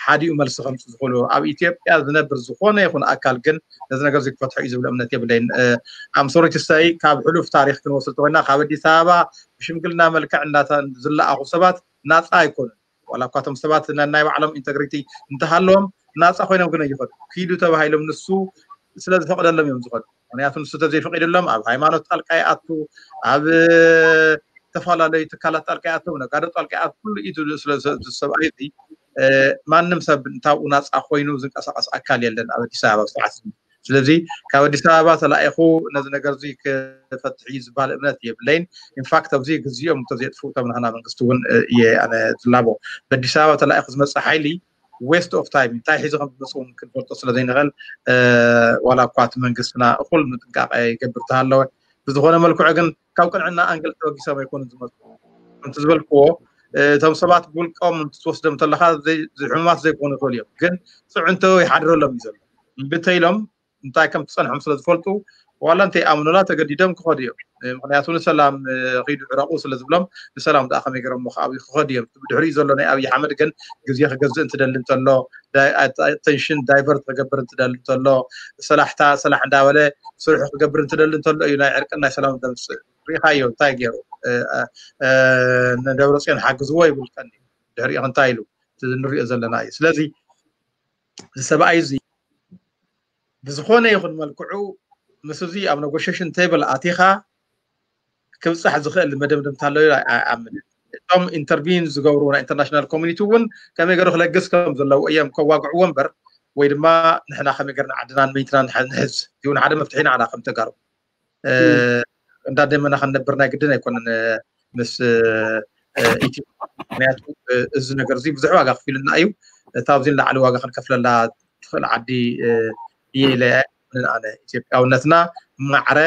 ሓዲኡ መልሲ ከምፁ ዝኽእሉ። ኣብ ኢትዮጵያ ዝነብር ዝኾነ ይኹን ኣካል ግን ነዚ ነገር እዚ ክፈትሖ እዩ ዝብል እምነት የብለይን። ኣምሶሪትስተይ ካብ ሕሉፍ ታሪክ ክንወስድ ተኮይና ካብ ኣዲስ ኣበባ ብሽምግልና መልክዕ እናተ ዝለኣኹ ሰባት ናፃ ኣይኮኑን። ዋላ እኳ እቶም ሰባት ነናይ ባዕሎም ኢንተግሪቲ እንተሃለዎም ናፃ ኮይኖም ግን ኣይኸዱ። ኪዱ ተባሂሎም ንሱ ስለ ዝፈቅደሎም እዮም ዝኸዱ። ምክንያቱ ንሱ ተዘይፈቂድሎም ኣብ ሃይማኖት ጣልቃ ይኣቱ፣ ኣብ ዝተፈላለዩ ትካላት ጣልቃ ይኣቱ፣ ነጋዶ ጣልቃ ይኣቱ፣ ኩሉ ኢዱ ስለ ሰብኣይ እዚ ማንም ሰብ እንታብኡ ናፃ ኮይኑ ዝንቀሳቀስ ኣካል የለን ኣብ ኣዲስ ኣበባ ስርዓት። ስለዚ ካብ ኣዲስ ኣበባ ተላኢኹ ነዚ ነገር እዚ ክፈትሕ እዩ ዝበሃል እምነት የብለይን። ኢንፋክት ኣብዚ ግዚኦም እንተዘየጥፍኡ እቶም ናህና መንግስቲ እውን እየ ኣነ ዝላቦ። በኣዲስ ኣበባ ተላኢኹ ዝመፅእ ሓይሊ ዌስት ኦፍ ታይም እንታይ ሒዙ ከም ዝመፅእ እውን ክንፈልጦ ስለ ዘይንኽእል ዋላ እኳ እቲ መንግስትና እኹል ምጥንቃቄ ይገብር ተሃለወ ብዝኾነ መልክዑ ግን ካብ ቅንዕና ኣንግል ተበጊሶም ኣይኮኑን ዝመፁ። ከምቲ ዝበልክዎ እቶም ሰባት ብውልቆም ትወስዶም እንተለካ ሕሙማት ዘይኮኑ ይኽእሉ እዮም ግን ፅዕንቶ ይሓድረሎም እዩ ዘሎ። እምቢ ተኢሎም እንታይ ከም ትፀንሖም ስለ ዝፈልጡ ዋላ እንተይኣምኑላ ተገዲዶም ክኸዱ እዮም። ምክንያቱ ንሰላም ኺዱ ዕረቁ ስለ ዝብሎም ንሰላም ደኣ ከመይ ገይሮም ከዓብዩ ክኸዱ እዮም። ብድሕሪኡ ዘሎ ናይ ኣብይ ኣሕመድ ግን ግዜ ክገዝእ እንትደሊ እንተሎ ኣቴንሽን ዳይቨርት ክገብር እንትደሊ እንተሎ ሰላሕታ ሰላሕ እንዳበለ ስርሑ ክገብር እንትደሊ እንተሎ እዩ ናይ ዕርቅን ናይ ሰላም ዘምፅእ። ሪኢኻዮ እንታይ ገይሩ ንደብረፅዮን ሓግዝዎ ይብል ቀኒ ድሕሪኡ እንታይ ኢሉ ንሪኦ ዘለና እዩ። ስለዚ እዚ ሰብኣይ እዚ ብዝኾነ ይኹን መልክዑ ምስ እዚ ኣብ ነጎሽሽን ቴብል ኣቲኻ ክብፃሕ ዝኽእል መደምደምታ ኣሎ ኣይኣምንን። እቶም ኢንተርቪን ዝገብሩ ናይ ኢንተርናሽናል ኮሚኒቲ እውን ከመይ ገይሩ ክለግስ ከም ዘለዎ እዮም ከዋግዕዎ እምበር ወይ ድማ ንሕና ከመይ ገርና ዓድናን መይትና ንሕዝ እውን ሓደ መፍትሒ ንዓና ከም ተጋሩ እንዳደመና ክንነብር ናይ ግድን ኣይኮነን ምስ ኢትዮ ምክንያቱ እዚ ነገር እዚ ብዙሕ ዋጋ ክፊሉና እዩ። እታ ኣብዚ ንላዕሊ ዋጋ ክንከፍለላ ትኽእል ዓዲ እየ ኢለ ኣይኣምንን ኣነ። ኢትዮጵያውነትና ማዕረ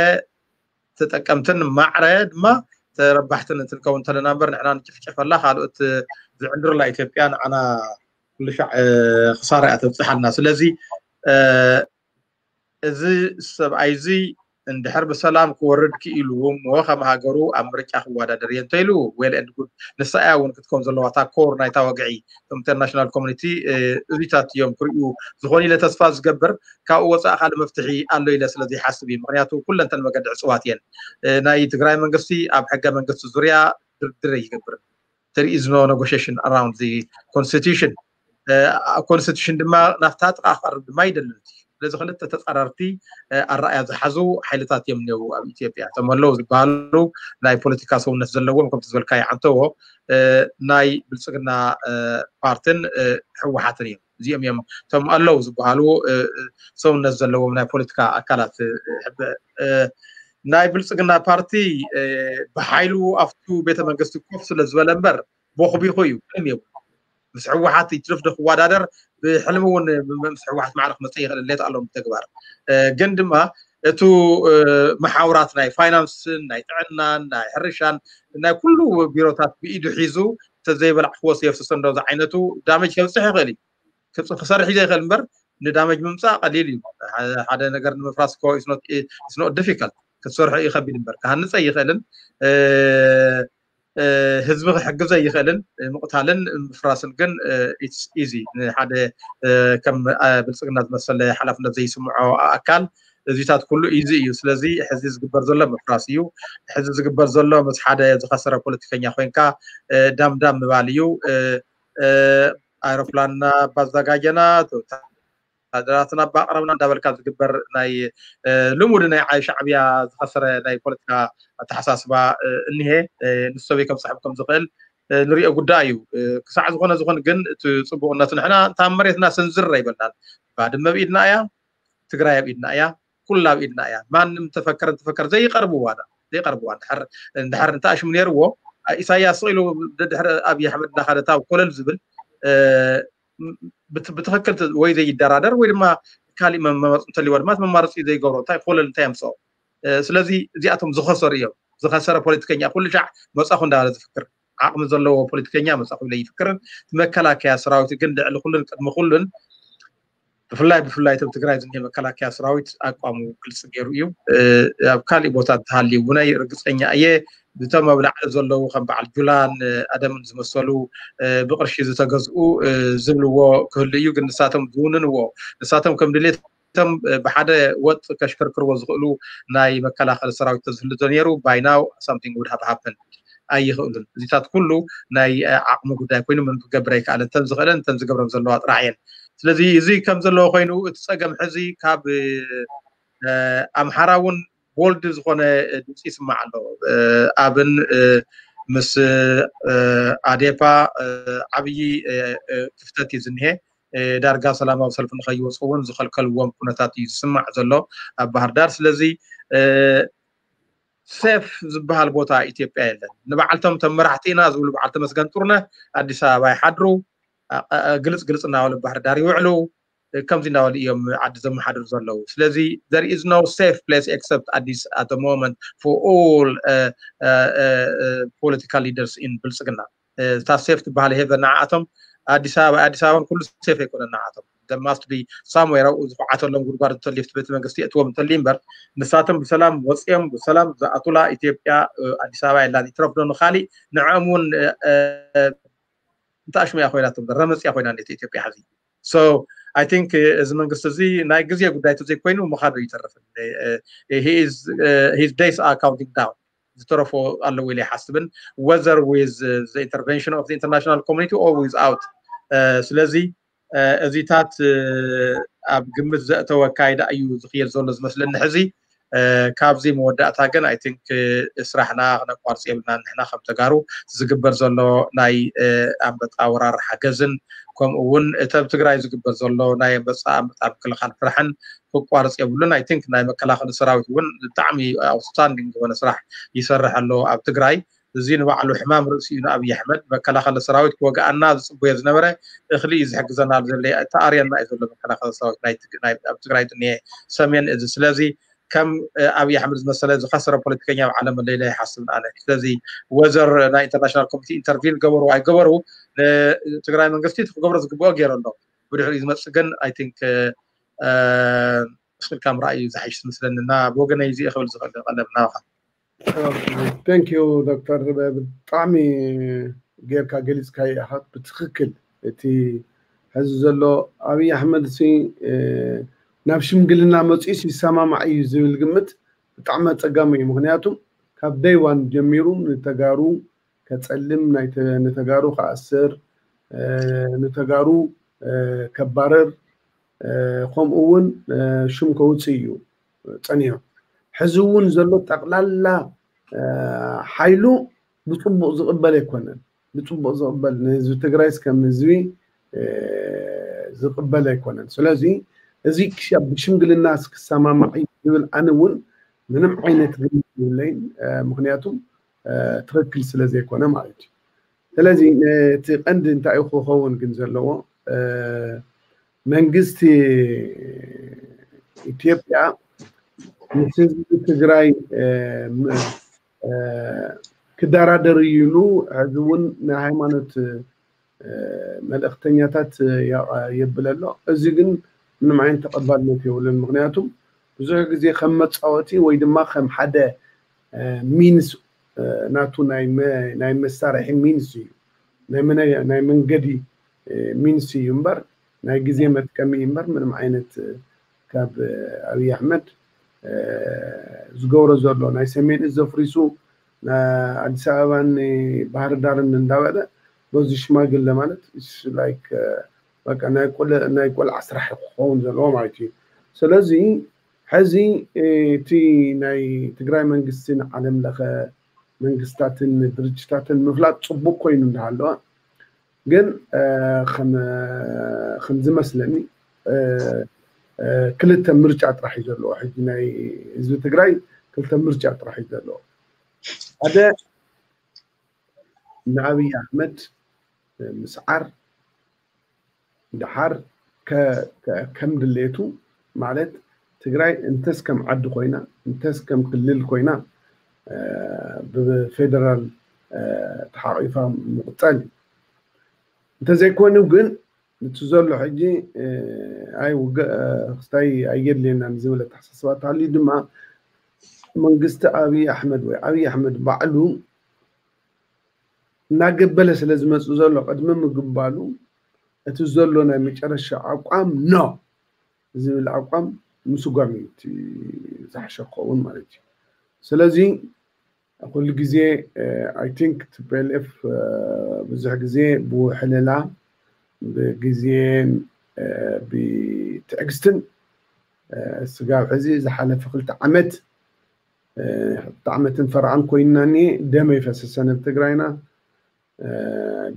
ተጠቀምትን ማዕረ ድማ ተረባሕትን እንትንከውን እንተለና እምበር ንሕና ንጭፍጨፈላ ካልኦት ዝዕንድሩላ ኢትዮጵያ ንዓና ኩሉ ሻዕ ክሳራ እያ ተብፅሓልና። ስለዚ እዚ ሰብኣይ እዚ እንድሕር ብሰላም ክወርድ ክኢሉ እሞ ከም ሃገሩ ኣብ ምርጫ ክወዳደር እየ እንተኢሉ well and good። ንሳ እያ እውን ክትከውን ዘለዋ እታ ኮር ናይታ ወግዒ። እቶም ኢንተርናሽናል ኮሚኒቲ እዚታት እዮም ክርእዩ ዝኾኑ ኢለ ተስፋ ዝገብር። ካብኡ ወፃኢ ካልእ መፍትሒ ኣሎ ኢለ ስለ ዘይሓስብ እዩ። ምክንያቱ ኩለንተን መገዲ ዕፅዋት እየን። ናይ ትግራይ መንግስቲ ኣብ ሕገ መንግስቲ ዙርያ ድርድር ኣይገብርን። There is no negotiation around the constitution። ኣብ ኮንስቲቱሽን ድማ ናብታ ጥቃ ክቀርብ ድማ ኣይደልን። ስለዚ ክልተ ተፃራርቲ ኣረኣያ ዝሓዙ ሓይልታት እዮም እኒአው ኣብ ኢትዮጵያ። እቶም ኣለዉ ዝበሃሉ ናይ ፖለቲካ ሰውነት ዘለዎም ከምቲ ዝበልካዮ ዓንተዎ ናይ ብልፅግና ፓርትን ህወሓትን እዮም። እዚኦም እዮም እቶም ኣለዉ ዝበሃሉ ሰውነት ዘለዎም ናይ ፖለቲካ ኣካላት። ናይ ብልፅግና ፓርቲ ብሓይሉ ኣብቱ ቤተ መንግስቲ ኮፍ ስለ ዝበለ እምበር ቦኽቢኹ እዩ ምንም የብሉ። ምስ ህወሓት ይትርፍ ዶ ክወዳደር? ብሕልሚ እውን ምስ ህወሓት ማዕረ ክመፅእ ይኽእል፣ ሌት ኣሎ ብተግባር። ግን ድማ እቱ መሓውራት ናይ ፋይናንስን ናይ ጥዕናን ናይ ሕርሻን ናይ ኩሉ ቢሮታት ብኢዱ ሒዙ ተዘይበላዕክዎ የፍስሶ እንዶ ዝዓይነቱ ዳመጅ ከብፅሕ ይኽእል እዩ። ክሰርሕ እዩ ዘይኽእል እምበር ንዳመጅ ምምፃእ ቀሊል እዩ። ሓደ ነገር ንምፍራስ ኮ ስኖት ዲፊካልት ክትሰርሖ እዩ ከቢድ እምበር ክሃንፀ ይኽእልን ህዝቢ ክሕግዘ ይኽእልን ምቕታልን ምፍራስን ግን ኢትስ ኢዚ ንሓደ ከም ብልፅግና ዝመሰለ ሓላፍነት ዘይስምዖ ኣካል እዚታት ኩሉ ኢዚ እዩ። ስለዚ ሕዚ ዝግበር ዘሎ ምፍራስ እዩ። ሕዚ ዝግበር ዘሎ ምስ ሓደ ዝኸሰረ ፖለቲከኛ ኮይንካ ዳምዳም ምባል እዩ። ኣይሮፕላንና ባዛጋጀና ወታደራትና ባቕረብና እንዳበልካ ዝግበር ናይ ልሙድ ናይ ዓይ ሻዕብያ ዝኸሰረ ናይ ፖለቲካ ኣተሓሳስባ እኒሄ። ንሰበይ ከም ሰሕብ ከም ዝኽእል ንሪኦ ጉዳይ እዩ። ክሳዕ ዝኾነ ዝኾን ግን እቲ ፅቡቕነቱ ንሕና እንታ መሬትና ስንዝር ኣይበልናን። ባድመ ብኢድና እያ፣ ትግራይ ኣብ ኢድና እያ፣ ኩላ ኣብ ኢድና እያ። ማንም ተፈከረ ተፈከረ ዘይቀርብዋ ዳ ዘይቀርብዋ እንድሕር እንድሕር እንተኣሽሙ ነይርዎ ኢሳያስ ስቕ ኢሉ ድሕሪ ኣብይ ኣሕመድ እናኸደ ታብ ኮለል ዝብል ብትክክል ወይ ዘይደራደር ወይ ድማ ካሊእ መማረፂ እንተልዎ ድማ መማረፂ ዘይገብሮ እንታይ ኮለል እንታይ ኣምፅኦ? ስለዚ እዚኣቶም ዝኸሰሩ እዮም። ዝኸሰረ ፖለቲከኛ ኩሉ ሻዕ መፃኹ እንዳበለ ዝፍክር ዓቕሚ ዘለዎ ፖለቲከኛ መፃኹ ኢለ ይፍክርን መከላከያ ሰራዊት ግን ልዕሊ ኩሉን ቅድሚ ኩሉን ብፍላይ ብፍላይ እቶም ትግራይ ዝኒሄ መከላከያ ሰራዊት ኣቋሙ ግልፂ ገይሩ እዩ። ኣብ ካሊእ ቦታ እንተሃልዩ እውነይ ርግፀኛ እየ ብቶም ኣብ ላዕሊ ዘለዉ ከም በዓል ጁላን ኣደምን ዝመሰሉ ብቅርሺ ዝተገዝኡ ዝብልዎ ክህሉ እዩ። ግን ንሳቶም ዝውንንዎ ንሳቶም ከም ድሌት እቶም ብሓደ ወጥ ከሽከርክርዎ ዝኽእሉ ናይ መከላኸሊ ሰራዊት ተዝህሉ ዶ ነይሩ ባይናው ሳምቲንግ ውድ ሃብ ሃፕን ኣይኽእሉን። እዚታት ኩሉ ናይ ዓቕሚ ጉዳይ ኮይኑ ምን ክገብር ኣይከኣለን። እተን ዝኽእለን እተን ዝገብረን ዘለዋ ጥራሕ እየን። ስለዚ እዚ ከም ዘለዎ ኮይኑ እቲ ፀገም ሕዚ ካብ ኣምሓራ እውን ቦልድ ዝኾነ ድምፂ ይስማዕ ኣሎ። ኣብን ምስ ኣዴፓ ዓብዪ ክፍተት እዩ ዝኒሄ። ዳርጋ ሰላማዊ ሰልፊ ንኸይወፁ እውን ዝኸልከልዎም ኩነታት እዩ ዝስማዕ ዘሎ ኣብ ባህር ዳር። ስለዚ ሴፍ ዝበሃል ቦታ ኢትዮጵያ የለን። ንበዓልቶም ተመራሕቲ ኢና ዝብሉ በዓል ተመስገን ጥሩነህ ኣዲስ ኣበባ ይሓድሩ፣ ግልፅ ግልፅ እናበሉ ባህር ዳር ይውዕሉ። ከምዚ እናበሉ እዮም ዓዲ ዘመሓድሩ ዘለዉ። ስለዚ there is no safe place except ኣዲስ at the moment for all political leaders in ብልፅግና። እታ ሴፍ ትበሃል ሄቨን ንዓኣቶም ኣዲስ ኣበባ ኣዲስ ኣበባን ኩሉ ሴፍ ኣይኮነን ንዓኣቶም። There must be somewhere ኣብኡ ዝኹዓተሎም ጉድጓድ እንተልዩ ቤተ መንግስቲ የእትዎም እንተልዩ እምበር ንሳቶም ብሰላም ወፂኦም ብሰላም ዝኣቱላ ኢትዮጵያ ኣዲስ ኣበባ የላን። ይትረፍ ዶ ንኻሊእ ንዕኦም እውን እንተኣሽሙ እያ ኮይና ረመፅ እያ ኮይና ኢትዮጵያ ሕዚ። So I think እዚ መንግስቲ እዚ ናይ ግዜ ጉዳይ ተዘይኮይኑ ምኻዱ ይተርፍን። His days are counting down። ዝተረፎ ኣለዎ ኢለ ይሓስብን whether with the intervention of the international community or without። ስለዚ እዚታት ኣብ ግምት ዘእተወ ኣካይዳ እዩ ዝኽየድ ዘሎ ዝመስለኒ ሕዚ። ካብዚ መወዳእታ ግን I think ስራሕና ክነቋርፅ የብልና። ንሕና ከም ተጋሩ ዝግበር ዘሎ ናይ ኣንበጣ ወራር ሓገዝን ከምኡ እውን እቲ ኣብ ትግራይ ዝግበር ዘሎ ናይ ኣንበጣ ኣንበጣ ምክልኻል ስራሕን ክቋርፅ የብሉን። I think ናይ መከላኸሊ ሰራዊት እውን ብጣዕሚ ኣውትስታንዲንግ ዝኾነ ስራሕ ይሰርሕ ኣሎ ኣብ ትግራይ። እዚ ንባዕሉ ሕማም ርእሲ እዩ ንኣብይ ኣሕመድ። መከላኸሊ ሰራዊት ክወግኣና ዝፅበዮ ዝነበረ እኽሊ እዩ ዝሕግዘና ዘሎ። ተኣርየና እዩ ዘሎ መከላኸሊ ሰራዊት ናይ ትግ- ናይ- ኣብ ትግራይ ዝኒሄ ሰሜን እዚ። ስለዚ ከም ኣብይ ኣሕመድ ዝመሰለ ዝኸሰረ ፖለቲከኛ ኣብ ዓለም ኣሎ ኢለ ኣይሓስብን ኣነ። ስለዚ whether ናይ ኢንተርናሽናል ኮሚቴ ኢንተርቪን ገበሩ ኣይገበሩ ንትግራይ መንግስቲ እቲ ክገብሮ ዝግብኦ ገይሩ ኣሎ። ብድሕሪኡ ዝመፅእ ግን I think እስክልካ ምርኣይ እዩ ዝሓይሽ ዝመስለኒ እና ብወገነይ እዚ ክብል ዝኽእል ቀለብ ናባኻ። Thank you ዶክተር፣ ብጣዕሚ ጌርካ ገሊፅካዮ ኢኻ ብትኽክል። እቲ ሕዚ ዘሎ ኣብይ ኣሕመድ ሲ ናብ ሽምግልና መፂኡስ ይሰማማዕ እዩ ዝብል ግምት ብጣዕሚ ኣፀጋሚ እዩ። ምክንያቱም ካብ day one ጀሚሩ ንተጋሩ ከፀልም፣ ንተጋሩ ከኣስር፣ ንተጋሩ ከባርር፣ ከምኡ እውን ሽም ከውፅእ እዩ ፀኒሑ። ሕዚ እውን ዘሎ ጠቕላላ ሓይሉ ብፅቡቕ ዝቕበል ኣይኮነን። ብፅቡቕ ዝቕበል ንህዝቢ ትግራይስ ከም ህዝቢ ዝቕበል ኣይኮነን። ስለዚ እዚ ክሻብ ብሽምግልና ክሰማማዕ እዩ ዝብል ኣነ እውን ምንም ዓይነት ግምት የብለይን። ምክንያቱም ትኽክል ስለ ዘይኮነ ማለት እዩ። ስለዚ እቲ ቀንዲ እንታይ እዩ ክኸውን ግን ዘለዎ፣ መንግስቲ ኢትዮጵያ ምስ ህዝቢ ትግራይ ክደራደር እዩ ኢሉ ሕዚ እውን ናይ ሃይማኖት መልእክተኛታት የብል ኣሎ። እዚ ግን ምንም ዓይነት ተቐባልነት የብሉን። ምክንያቱም ብዙሕ ግዜ ከም መፃወቲ ወይ ድማ ከም ሓደ ሚንስ ናቱ ናይ መሳርሒ ሚንስ እዩ፣ ናይ መንገዲ ሚንስ እዩ እምበር ናይ ግዜ መጥቀሚ እዩ እምበር ምንም ዓይነት ካብ ኣብይ ኣሕመድ ዝገብሮ ዘሎ ናይ ሰሜን እዝ ዘፍሪሱ ኣዲስ ኣበባን ባህር ዳርን እንዳበለ በዚ ሽማግለ ማለት ላይክ በቃ ናይ ቆልዓ ስራሕ ክኸውን ዘለዎ ማለት እዩ። ስለዚ ሕዚ እቲ ናይ ትግራይ መንግስቲ ንዓለም ለኸ መንግስታትን ድርጅታትን ምፍላጥ ፅቡቅ ኮይኑ እንዳሃለዋ ግን ከም ዝመስለኒ ክልተ ምርጫ ጥራሕ እዩ ዘለዎ። ሕጂ ናይ ህዝቢ ትግራይ ክልተ ምርጫ ጥራሕ እዩ ዘለዎ። ሓደ ንኣብይ ኣሕመድ ምስዓር፣ ደሓር ከም ድሌቱ ማለት ትግራይ እንተስ ከም ዓዲ ኮይና እንተስ ከም ክልል ኮይና ብፌደራል ተሓቂፋ ምቕፃል እዩ። እንተዘይኮይኑ ግን እቲ ዘሎ ሕጂ ኣይ ውግእ ክስታይ ኣየድልየናን ዝብል ኣተሓሳስባ ተሃልዩ ድማ መንግስቲ ኣብይ ኣሕመድ ወይ ኣብይ ኣሕመድ ባዕሉ እናገበለ ስለ ዝመፅእ ዘሎ ቅድሚ ምግባሉ እቲ ዘሎ ናይ መጨረሻ ኣቋም ኖ ዝብል ኣቋም ምስጓም እዩ እቲ ዝሓሸ ክኸውን ማለት እዩ። ስለዚ ኩሉ ግዜ ኣይ ቲንክ ቲ ፒ ኤል ኤፍ ብዙሕ ግዜ ብውሕልላ ብግዜን ብትዕግስትን ስጋብ ሕዚ ዝሓለፈ ክልተ ዓመት ክልተ ዓመትን ፈርዓን ኮይንና እኒሄ። ደም ኣይፈሰሰን ኣብ ትግራይና።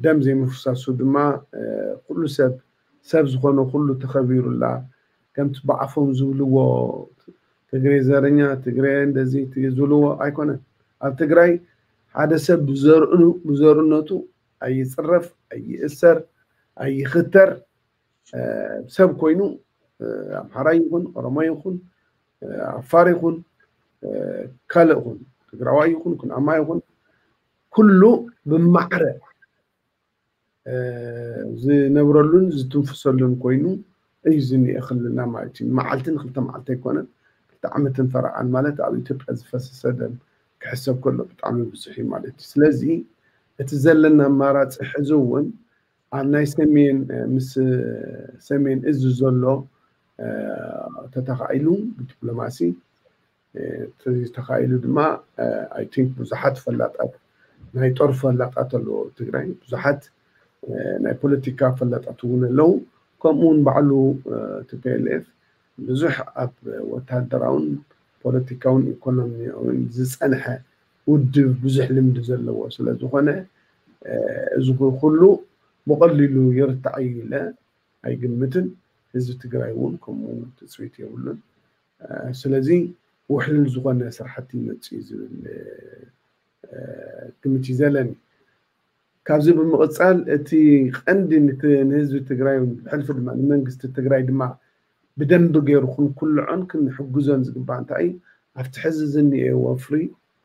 ደም ዘይምፍሳሱ ድማ ኩሉ ሰብ ሰብ ዝኾነ ኩሉ ተኸቢሩላ ከምቲ ብዓፎም ዝብልዎ ትግሬ ዘረኛ ትግሬ እንደዚ ዝብልዎ ኣይኮነን። ኣብ ትግራይ ሓደ ሰብ ብዘርእኑ ብዘርነቱ ኣይፅረፍ፣ ኣይእሰር፣ ኣይኽተር ሰብ ኮይኑ ኣምሓራይ ይኹን ኦሮሞ ይኹን ዓፋር ይኹን ካልእ ይኹን ትግራዋይ ይኹን ኩናማ ይኹን ኩሉ ብማዕረ ዝነብረሉን ዝትንፍሰሉን ኮይኑ እዩ ዝኒኤ ክልልና ማለት እዩ። መዓልቲ ንክልተ መዓልቲ ኣይኮነን፣ ክልተ ዓመትን ፈረቓን ማለት ኣብ ኢትዮጵያ ዝፈሰሰ ደም ክሕሰብ ከሎ ብጣዕሚ ብዙሕ እዩ ማለት እዩ። ስለዚ እቲ ዘለና ኣማራፂ ሕዚ እውን ኣብ ናይ ሰሜን ምስ ሰሜን እዝ ዘሎ ተተኻኢሉ ብዲፕሎማሲ ተተኻኢሉ ድማ ኣይ ቲንክ ብዙሓት ፈላጣት ናይ ጦር ፈላጣት ኣለዎ ትግራይ፣ ብዙሓት ናይ ፖለቲካ ፈላጣት እውን ኣለዉ። ከምኡ እውን ባዕሉ ቲ ፒ ኤል ኤፍ ብዙሕ ኣብ ወታደራውን ፖለቲካውን ኢኮኖሚያውን ዝፀንሐ ውድብ ብዙሕ ልምዲ ዘለዎ ስለ ዝኾነ እዚ ኩሉ ብቐሊሉ ይርታዕ እዩ ኢለ ኣይግምትን። ህዝቢ ትግራይ እውን ከምኡ ትፅቢት የብሉን። ስለዚ ውሕልል ዝኾነ ስራሕቲ ይመፅእ እዩ ዝብል ግምት እዩ ዘለኒ። ካብዚ ብምቕፃል እቲ ቀንዲ ንህዝቢ ትግራይ ብሕልፊ ድማ ንመንግስቲ ትግራይ ድማ ብደንቢ ገይሩ ክንኩልዖን ክንሕግዞን ዝግባእ እንታይ እዩ? ኣብቲ ሕዚ ዝኒኤ ወፍሪ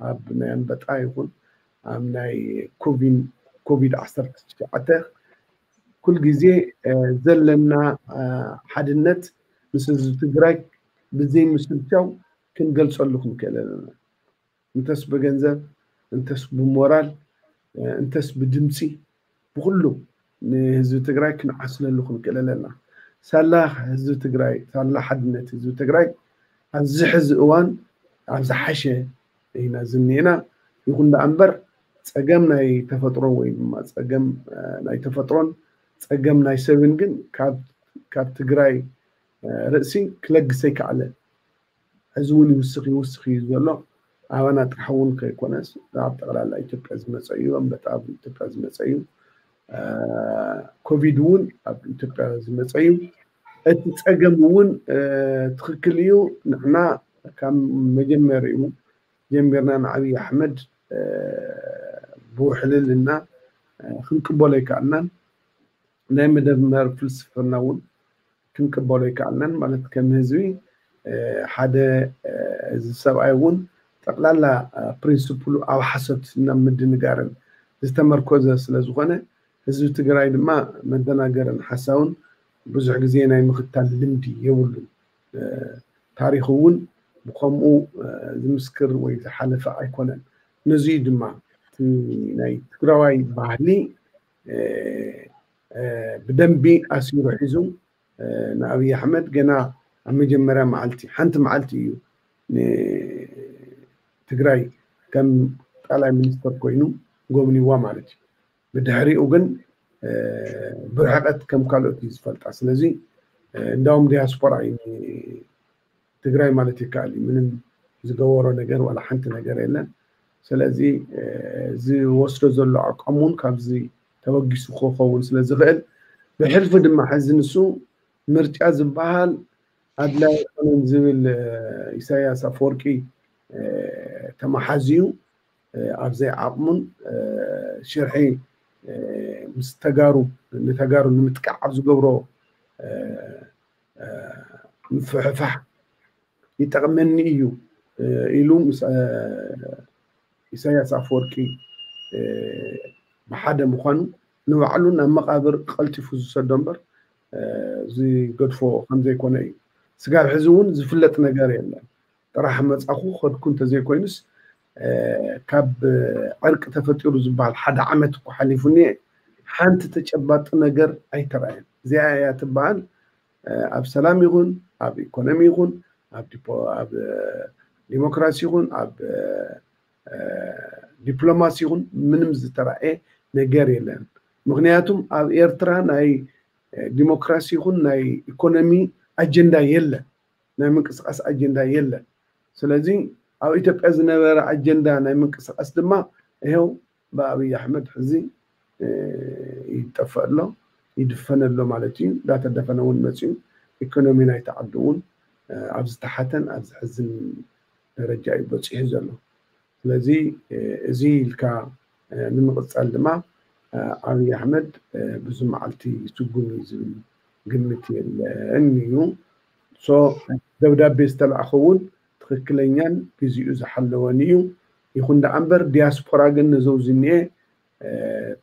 ኣብ ናይ ኣንበጣ ይኹን ኣብ ናይ ኮቪድ ዓሰርተ ትሽዓተ ኩል ግዜ ዘለና ሓድነት ምስ ህዝቢ ትግራይ ብዘይ ምስልቻው ክንገልፀሉ ክንክእል ኣለና። እንተስ ብገንዘብ፣ እንተስ ብሞራል፣ እንተስ ብድምፂ ብኩሉ ንህዝቢ ትግራይ ክንዓስለሉ ክንክእል ኣለና። ሳላ ህዝቢ ትግራይ፣ ሳላ ሓድነት ህዝቢ ትግራይ ኣብዚ ሕዚ እዋን ኣብ ዝሓሸ ኢና ዝኒኤና። ይኹን ደኣ እምበር ፀገም ናይ ተፈጥሮ ወይ ድማ ፀገም ናይ ተፈጥሮን ፀገም ናይ ሰብን ግን ካብ ትግራይ ርእሲ ክለግስ ኣይከኣለን። ሕዚ እውን ይውስኽ ይውስኽ እዩ ዘሎ። ኣባና ጥራሕ እውን ከይኮነስ ኣብ ጠቕላላ ኢትዮጵያ ዝመፀ እዩ። ኣንበጣ ኣብ ኢትዮጵያ ዝመፀ እዩ። ኮቪድ እውን ኣብ ኢትዮጵያ ዝመፀ እዩ። እቲ ፀገም እውን ትኽክል እዩ። ንሕና ካብ መጀመሪኡ ጀሚርና ንዓብዪ ኣሕመድ ብውሕልልና ክንቅበሎ ኣይከኣልናን። ናይ መደመር ፍልስፍና እውን ክንቅበሎ ኣይከኣልናን። ማለት ከም ህዝቢ ሓደ እዚ ሰብኣይ እውን ጠቕላላ ፕሪንስፕሉ ኣብ ሓሶት ናብ ምድንጋርን ዝተመርኮዘ ስለ ዝኾነ ህዝቢ ትግራይ ድማ መደናገርን ሓሳውን ብዙሕ ግዜ ናይ ምኽታል ልምዲ የብሉን። ታሪኹ እውን ብከምኡ ዝምስክር ወይ ዝሓለፈ ኣይኮነን። ነዚ ድማ ናይ ትግራዋይ ባህሊ ብደንቢ ኣሲሩ ሒዙ ንኣብይ ኣሕመድ ገና ኣብ መጀመርያ መዓልቲ ሓንቲ መዓልቲ እዩ ንትግራይ ከም ጠቅላይ ሚኒስትር ኮይኑ ጎብኒዋ ማለት እዩ። ብድሕሪኡ ግን ብርሕቀት ከም ካልኦት እዩ ዝፈልጣ። ስለዚ እንዳውም ዲያስፖራ እዩ ትግራይ ማለት ይከኣል እዩ። ምንም ዝገበሮ ነገር ዋላ ሓንቲ ነገር የለን። ስለዚ ዝወስዶ ዘሎ ኣቋም እውን ካብዚ ተበጊሱ ክኸውን ስለ ዝኽእል ብሕልፊ ድማ ሕዚ ንሱ ምርጫ ዝበሃል ኣድላይ ኣይኮነን ዝብል ኢሳያስ ኣፈወርቂ ተመሓዝዩ ኣብ ዘይዓቕሙን ሽርሒ ምስ ተጋሩ ንተጋሩ ንምጥቃዕ ኣብ ዝገብሮ ምፍሕፋሕ ይጠቕመኒ እዩ ኢሉ ምስ ኢሳያስ ኣፈወርቂ ብሓደ ምዃኑ ንባዕሉ ናብ መቓብር ቀልጢፉ ዝሰዶ እምበር ዝገድፎ ከምዘይኮነ እዩ። ስጋብ ሕዚ እውን ዝፍለጥ ነገር የለን። ጥራሕ መጻኹ ከድኩ እንተዘይኮይኑስ ካብ ዕርቂ ተፈጢሩ ዝበሃል ሓደ ዓመት እኮ ሓሊፉ እኒአ። ሓንቲ ተጨባጢ ነገር ኣይተረኣየን። እዚኣ እያ ትበሃል ኣብ ሰላም ይኹን ኣብ ኢኮኖሚ ይኹን ኣብ ዲሞክራሲ ይኹን ኣብ ዲፕሎማሲ ይኹን ምንም ዝተረኣየ ነገር የለን። ምክንያቱም ኣብ ኤርትራ ናይ ዲሞክራሲ ይኹን ናይ ኢኮኖሚ ኣጀንዳ የለን። ናይ ምንቅስቃስ ኣጀንዳ የለን። ስለዚ ኣብ ኢትዮጵያ ዝነበረ ኣጀንዳ ናይ ምንቅስቃስ ድማ ይኸው ብኣብይ ኣሕመድ ሕዚ ይጠፈእ ኣሎ፣ ይድፈን ኣሎ ማለት እዩ። እንዳተደፈነ እውን መፅዩ ኢኮኖሚ ናይቲ ዓዲ እውን ኣብ ዝተሓተን ኣብ ዝሕዝን ደረጃ እዩ በፂሑ ዘሎ። ስለዚ እዚ ኢልካ ንምቕፃል ድማ ኣብይ ኣሕመድ ብዙ መዓልቲ ይስጉም እዩ ዝብል ግምት የለን እዩ። ደብዳቤ ዝተላእኸ እውን ትኽክለኛን ግዜኡ ዝሓለወን እዩ። ይኹን ደኣ እምበር ዲያስፖራ ግን ነዞም ዝኒኤ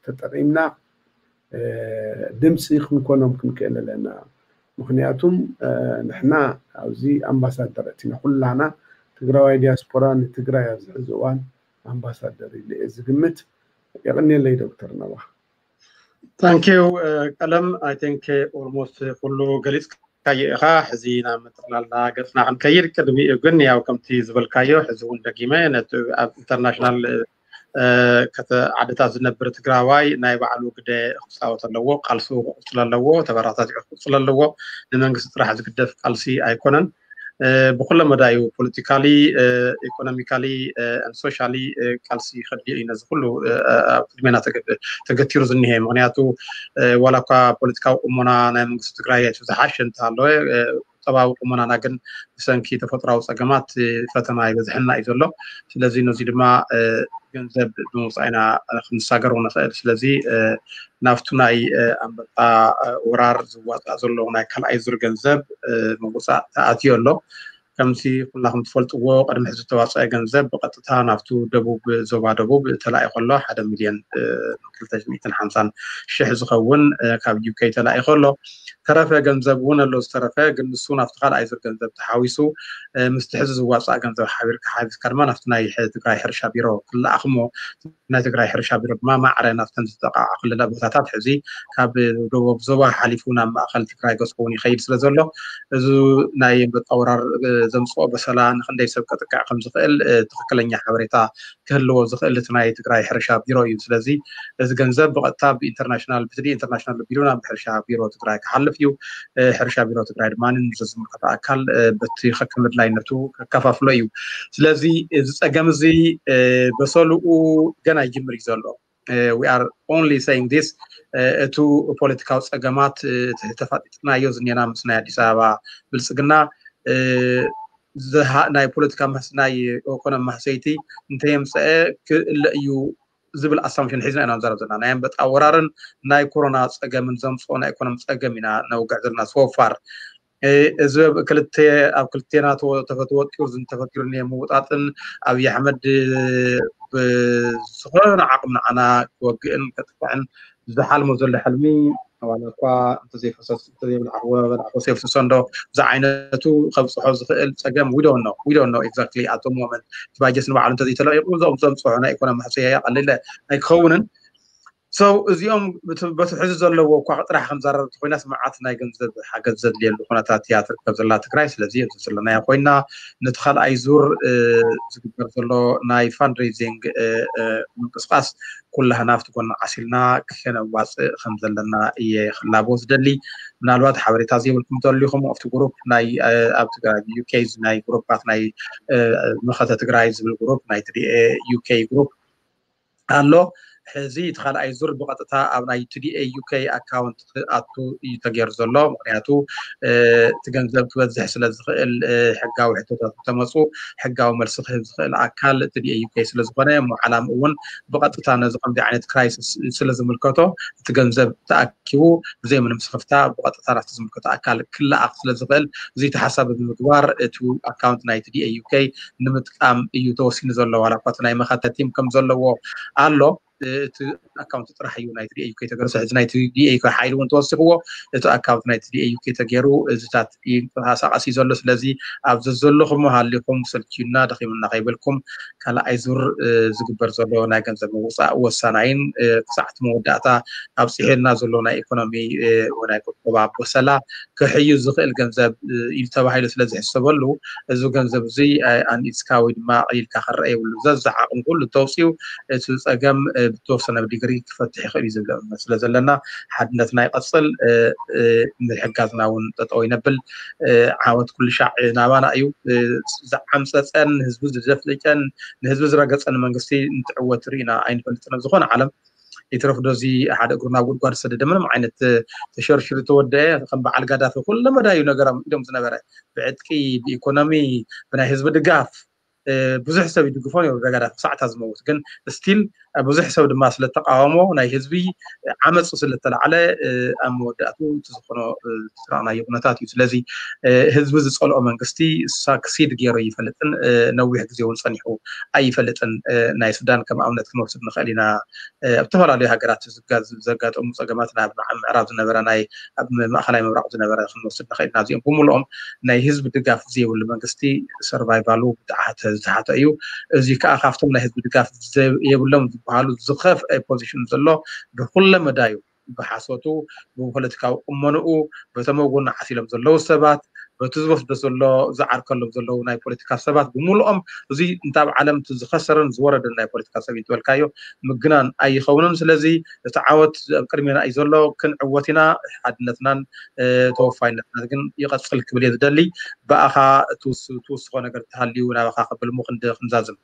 ተጠቒምና ድምፂ ክንኮኖም ክንክእል ኣለና። ምክንያቱም ንሕና ኣብዚ ኣምባሳደር እቲና ኩላና ትግራዋይ ዲያስፖራ ንትግራይ ኣብዚ ሕዚ እዋን ኣምባሳደር ኢለ እየ ዝግምት። የቐንየለይ ዶክተር ነባ። ታንኪዩ ቀለም። I think almost ኩሉ ገሊፅካዮ ኢኻ። ሕዚ ናብ ምጥቕላላ ገፅና ክንከይድ ቅድሚኡ ግን ያው ከምቲ ዝበልካዮ ሕዚ እውን ደጊመ ነቲ ኣብ ኢንተርናሽናል ዓድታት ዝነብር ትግራዋይ ናይ ባዕሉ ግደ ክፃወት ኣለዎ። ቃልሱ ክቕፅል ኣለዎ። ተበራታቲዑ ክቕፅል ኣለዎ። ንመንግስቲ ጥራሕ ዝግደፍ ቃልሲ ኣይኮነን። ብኩለ መዳዩ ፖለቲካሊ፣ ኢኮኖሚካሊ፣ ሶሻሊ ቃልሲ ከድልዮ እዩ። ነዚ ኩሉ ኣብ ቅድሜና ተገቲሩ ዝኒሀ። ምክንያቱ ዋላ እኳ ፖለቲካዊ ቁሞና ናይ መንግስቲ ትግራይ ዝሓሸ እንተሃለወ ቁጠባዊ ቁመናና ግን ብሰንኪ ተፈጥሮዊ ፀገማት ፈተና ይበዝሐና እዩ ዘሎ። ስለዚ ነዚ ድማ ገንዘብ ብምውፃእ ኢና ክንሳገሮ ንኽእል። ስለዚ ናብቱ ናይ ኣንበጣ ወራር ዝዋፃእ ዘሎ ናይ ካልኣይ ዙር ገንዘብ ምውፃእ ተኣትዮ ኣሎ። ከምዚ ኩላኹም ትፈልጥዎ ቅድሚ ሕዚ ዝተዋፀአ ገንዘብ ብቐጥታ ናብቱ ደቡብ ዞባ ደቡብ ተላኢኹ ኣሎ። ሓደ ሚልዮን ክልተ ሚእትን ሓምሳን ሽሕ ዝኸውን ካብ ዩኬ ተላኢኹ ኣሎ። ተረፈ ገንዘብ እውን ኣሎ ዝተረፈ፣ ግን ንሱ ናብቲ ካልኣይ ዙር ገንዘብ ተሓዊሱ ምስቲ ሕዚ ዝዋፃእ ገንዘብ ሓቢርካ ሓቢስካ ድማ ናብቲ ናይ ትግራይ ሕርሻ ቢሮ ክለኣኽ እሞ ናይ ትግራይ ሕርሻ ቢሮ ድማ ማዕረ ናብተን ዝጠቃዓ ክልለ ቦታታት ሕዚ ካብ ደቡብ ዞባ ሓሊፉ ናብ ማእኸል ትግራይ ገፁ እውን ይኸይድ ስለ ዘሎ እዚ ናይ ኣንበጣ ወራር ዘምፅኦ በሰላ ንክንደይ ሰብ ከጥቅዕ ከም ዝኽእል ትኽክለኛ ሓበሬታ ክህልዎ ዝኽእል እቲ ናይ ትግራይ ሕርሻ ቢሮ እዩ። ስለዚ እዚ ገንዘብ ብቐጥታ ብኢንተርናሽናል ብትዲ ኢንተርናሽናል ቢሮ ናብ ሕርሻ ቢሮ ትግራይ ክሓልፍ እዩ። ሕርሻ ቢሮ ትግራይ ድማ ንዝምልከቶ ኣካል በቲ ከከም ኣድላይነቱ ከከፋፍሎ እዩ። ስለዚ እዚ ፀገም እዚ በሰልኡ ገና ይጅምር እዩ ዘሎ። We are only saying this እቱ ፖለቲካዊ ፀገማት ተፋጢጥናዮ ዝኔና ምስ ናይ ኣዲስ ኣበባ ብልፅግና ናይ ፖለቲካ ናይ ኢኮኖሚ ማህሰይቲ እንተየምፀአ ክእለ እዩ ዝብል ኣሳምሽን ሒዝና ኢና ንዛረብ ዘለና። ናይ ኣንበጣ ወራርን ናይ ኮሮና ፀገምን ዘምፅኦ ናይ ኢኮኖሚ ፀገም ኢና ነውግዕ ዘለና ሶፋር። እዚ ክልተ ኣብ ክልቴና ተፈትወቂሩ ዝንተፈኪሩ ምውጣጥን ኣብይ ኣሕመድ ብዝኾነ ዓቕሚ ንዓና ክወግእን ከጥቅዕን ዝሓልሞ ዘሎ ሕልሚ ዋላ እኳ እንተዘይፈሰስ እንተዘይበላዕዎ በላዕዎ ሴፍ ሰንዶ ዝዓይነቱ ከብፅሖ ዝኽእል ፀገም we don't know we don't know exactly at the moment። እቲ ባጀት ንባዕሉ እንተዘይተለቂቑ እዞም ዘምፅሖ ናይ ኢኮኖሚ ሕፅያ ቀሊለ ኣይክኸውንን። So እዚኦም በቲ ሕዚ ዘለዎ እኳ ጥራሕ ከምዛረብ ኮይናስ መዓት ናይ ገንዘብ ሓገዝ ዘድልየሉ ኩነታት እያ ትርከብ ዘላ ትግራይ። ስለዚ እዚ ዘለናዮ ኮይና ነቲ ካልኣይ ዙር ዝግበር ዘሎ ናይ fundraising ምንቅስቃስ ኩላህና ኣብቲ ጎና ዓሲልና ከነዋፅእ ከም ዘለና እየ ክላቦ ዝደሊ። ምናልባት ሓበሬታ ዘይብልኩም ተልዩኹም ኣብቲ ግሩፕ ናይ ኣብ ትግራይ ዩኬ ናይ ግሩፓት ናይ መኸተ ትግራይ ዝብል ግሩፕ ናይ ትዲኤ ዩኬ ግሩፕ ኣሎ። ሕዚ እቲ ካልኣይ ዙር ብቐጥታ ኣብ ናይ ቲዲኤ ዩኬ ኣካውንት ክኣቱ እዩ ተገይሩ ዘሎ። ምክንያቱ እቲ ገንዘብ ክበዝሕ ስለ ዝኽእል ሕጋዊ ሕቶታት ተመፁ ሕጋዊ መልሲ ክህብ ዝኽእል ኣካል ቲዲኤ ዩኬ ስለ ዝኾነ እሞ ዓላም እውን ብቐጥታ ነዚ ከምዚ ዓይነት ክራይሲስ ስለ ዝምልከቶ እቲ ገንዘብ ተኣኪቡ ብዘይ ምንም ስኽፍታ ብቐጥታ ናብቲ ዝምልከቶ ኣካል ክለኣኽ ስለ ዝኽእል እዚ ተሓሳቢ ብምግባር እቲ ኣካውንት ናይ ቲዲኤ ዩኬ ንምጥቃም እዩ ተወሲኑ ዘሎ። ዋላ እኳ እቲ ናይ መኸተ ቲም ከም ዘለዎ ኣሎ እቲ ኣካውንት ጥራሕ እዩ ናይ ቲዲኤ ዩኬ ተገርሶ። ሕዚ ናይ ቲዲኤ ዩኬ ሓይሊ እውን ተወሲኽዎ እቲ ኣካውንት ናይ ቲዲኤ ዩኬ ተገይሩ እዚታት ይንቀሳቀስ እዩ ዘሎ። ስለዚ ኣብዚ ዘለኹም ሃሊኹም ሰልችዩና ደኺሙና ከይበልኩም ካልኣይ ዙር ዝግበር ዘሎ ናይ ገንዘብ ምውፃእ ወሳናይን ክሳዕ እቲ መወዳእታ ኣብፅሔልና ዘሎ ናይ ኢኮኖሚ ናይ ቁጠባ በሰላ ክሕዩ ዝኽእል ገንዘብ እዩ ተባሂሉ ስለ ዝሕሰበሉ እዚ ገንዘብ እዚ ኣንኢድስካ ወይ ድማ ኣቕሊልካ ክረአ የብሉ። ዘዛ ዓቕሚ ኩሉ ተውፅኡ እቲ ፀገም ብተወሰነ ዲግሪ ክፈትሕ ይኽእል እዩ ዝብል እምነት ስለ ዘለና ሓድነትና ይቐፅል። ምሕጋዝና እውን ጠጠው ይነብል። ዓወት ኩሉ ሻዕ ናባና እዩ። ዝዓምፀፀን ንህዝቢ ዝደፍጨን ንህዝቢ ዝረገፀን መንግስቲ እንትዕወት ርኢና ኣይንፈልጥን ኣብ ዝኾነ ዓለም። ይትረፍ ዶ እዚ ሓደ እግሩ ናብ ጉድጓድ ዝሰደደ ምንም ዓይነት ተሸርሽሩ ተወደአ ከም በዓል ጋዳፊ ኩለ መዳዩ ነገሮም ኢዶም ዝነበረ ብዕጥቂ ብኢኮኖሚ ብናይ ህዝቢ ድጋፍ ብዙሕ ሰብ ይድግፎ ነሩ ጋዳፊ ክሳዕታ ዝመውት ግን ስቲል ብዙሕ ሰብ ድማ ስለተቃወሞ ናይ ህዝቢ ዓመፁ ስለተላዕለ ኣብ መወዳእቱ እቲ ዝኾኖ ዝረኣናዮ ኩነታት እዩ። ስለዚ ህዝቢ ዝፀልኦ መንግስቲ ሳክሲድ ገይሩ ይፈልጥን ነዊሕ ግዜ እውን ፀኒሑ ኣይፈልጥን። ናይ ሱዳን ከም ኣብነት ክንወስድ ንኽእል ኢና። ኣብ ዝተፈላለዩ ሃገራት ዘጋጠሙ ፀገማት ናብ ምዕራብ ዝነበረ ናይ ኣብ ማእኸላይ ምብራቕ ዝነበረ ክንወስድ ንኽእል ኢና። እዚኦም ብምልኦም ናይ ህዝቢ ድጋፍ ዘይብሉ መንግስቲ ሰርቫይቫሉ ብጣዕሚ ዝተሓተ እዩ። እዚ ከዓ ካብቶም ናይ ህዝቢ ድጋፍ የብሎም ዝበሃሉ ዝኸፍአ ፖዚሽን ዘሎ ብኩለ መዳዩ ብሓሶቱ ብፖለቲካዊ ቁመንኡ በቶም ኣብ ጎኑ ዓሲሎም ዘለዉ ሰባት በቲ ዝወስዶ ዘሎ ዝዓርከሎም ዘለዉ ናይ ፖለቲካ ሰባት ብምልኦም እዚ እንተ ኣብ ዓለም እቲ ዝኸሰረን ዝወረደን ናይ ፖለቲካ ሰብ እዩ ዝበልካዮ ምግናን ኣይኸውንን። ስለዚ እቲ ዓወት ኣብ ቅድሜና እዩ ዘሎ። ክንዕወት ኢና። ሓድነትናን ተወፋይነትናን ግን ይቐፅል ክብል እየ ዝደሊ። ብኣኻ ትውስኾ ነገር እንተሃልዩ ናባኻ ከብል እሞ ክንዛዝም።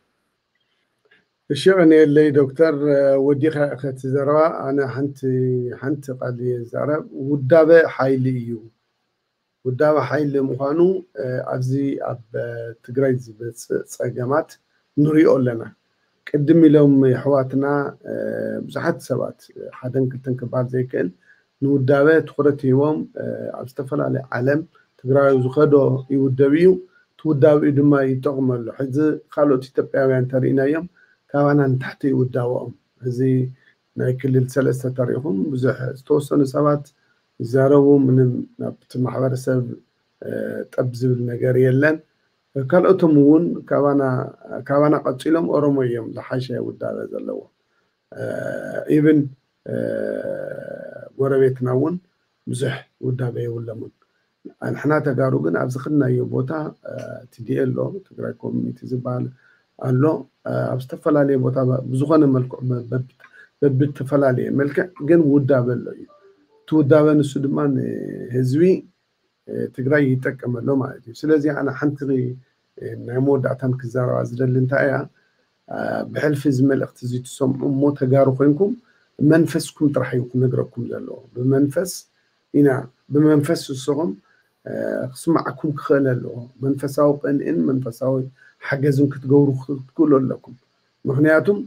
እሺ ቀንየለይ ዶክተር። ወዲኻ ኢኸ እቲ ዘረባ። ኣነ ሓንቲ ሓንቲ ቃል እየ ዝዛረብ። ውዳበ ሓይሊ እዩ። ውዳበ ሓይሊ ምዃኑ ኣብዚ ኣብ ትግራይ ዝመፅእ ፀገማት ንሪኦ ኣለና። ቅድም ኢሎም የሕዋትና ብዙሓት ሰባት ሓደን ክልተን ክበሃል ዘይክእል ንውዳበ ትኹረት ሂቦም ኣብ ዝተፈላለየ ዓለም ትግራዊ ዝኸዶ ይውደብ እዩ። እቲ ውዳብኡ ድማ ይጠቕመሉ። ሕዚ ካልኦት ኢትዮጵያውያን እንተርኢናዮም ካባና ንታሕቲ ይውዳበኦም። እዚ ናይ ክልል ሰለስተ ተሪኢኹም ብዙሕ ዝተወሰኑ ሰባት ይዛረቡ፣ ምንም ናብቲ ማሕበረሰብ ጠብ ዝብል ነገር የለን። ካልኦቶም እውን ካባና ቀፂሎም ኦሮሞ እዮም ዝሓሸ ውዳበ ዘለዎ። ኢብን ጎረቤትና እውን ብዙሕ ውዳበ የብሎምን። ኣንሕና ተጋሩ ግን ኣብዚ ከድናዮ ቦታ ቲዲኤ ኣሎ፣ ትግራይ ኮሚኒቲ ዝበሃል ኣሎ። ኣብ ዝተፈላለየ ቦታ ብዝኾነ መልክዑ በብተፈላለየ መልክዕ ግን ውዳበ ኣሎ እዩ። እቲ ውዳበ ንሱ ድማ ንህዝቢ ትግራይ ይጠቀመሎ ማለት እዩ። ስለዚ ኣነ ሓንቲ ናይ መወዳእታን ክዛረባ ዝደሊ እንታይ እያ፣ ብሕልፊ እዚ መልእኽቲ እዚ ትሰምዑ እሞ ተጋሩ ኮይንኩም መንፈስኩም ጥራሕ እዩ ክነግረኩም ዘለዎ። ብመንፈስ ኢና፣ ብመንፈስ ንስኹም ክስማዓኩም ክኽእል ኣለዎ። መንፈሳዊ ቅንእን መንፈሳዊ ሓገዝን ክትገብሩ ክትክእሉ ኣለኩም። ምክንያቱም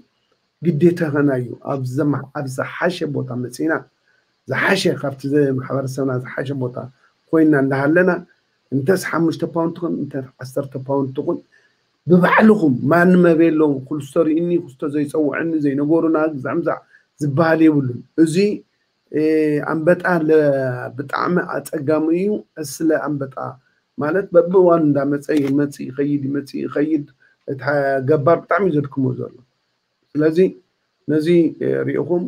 ግዴታና እዩ። ኣብ ዝሓሸ ቦታ መፂና፣ ዝሓሸ ካብቲ ማሕበረሰብና ዝሓሸ ቦታ ኮይና እንዳሃለና፣ እንተስ ሓሙሽተ ፓውንድ ትኹን፣ እንተ ዓሰርተ ፓውንድ ትኹን፣ ብባዕልኹም፣ ማንም ኣበየለዎም፣ ክልስቶ ርእኒ ክስቶ ዘይፀውዐኒ ዘይነገሩና ግዛዕ ምዛዕ ዝበሃል የብሉን። እዚ ኣንበጣ ብጣዕሚ ኣፀጋሚ እዩ። እስለ ኣንበጣ ማለት በብእዋኑ እንዳመፀ ይመፅእ ይኸይድ፣ ይመፅእ ይኸይድ። እቲ ገባር ብጣዕሚ እዩ ዘድክሞ ዘሎ። ስለዚ ነዚ ሪእኹም፣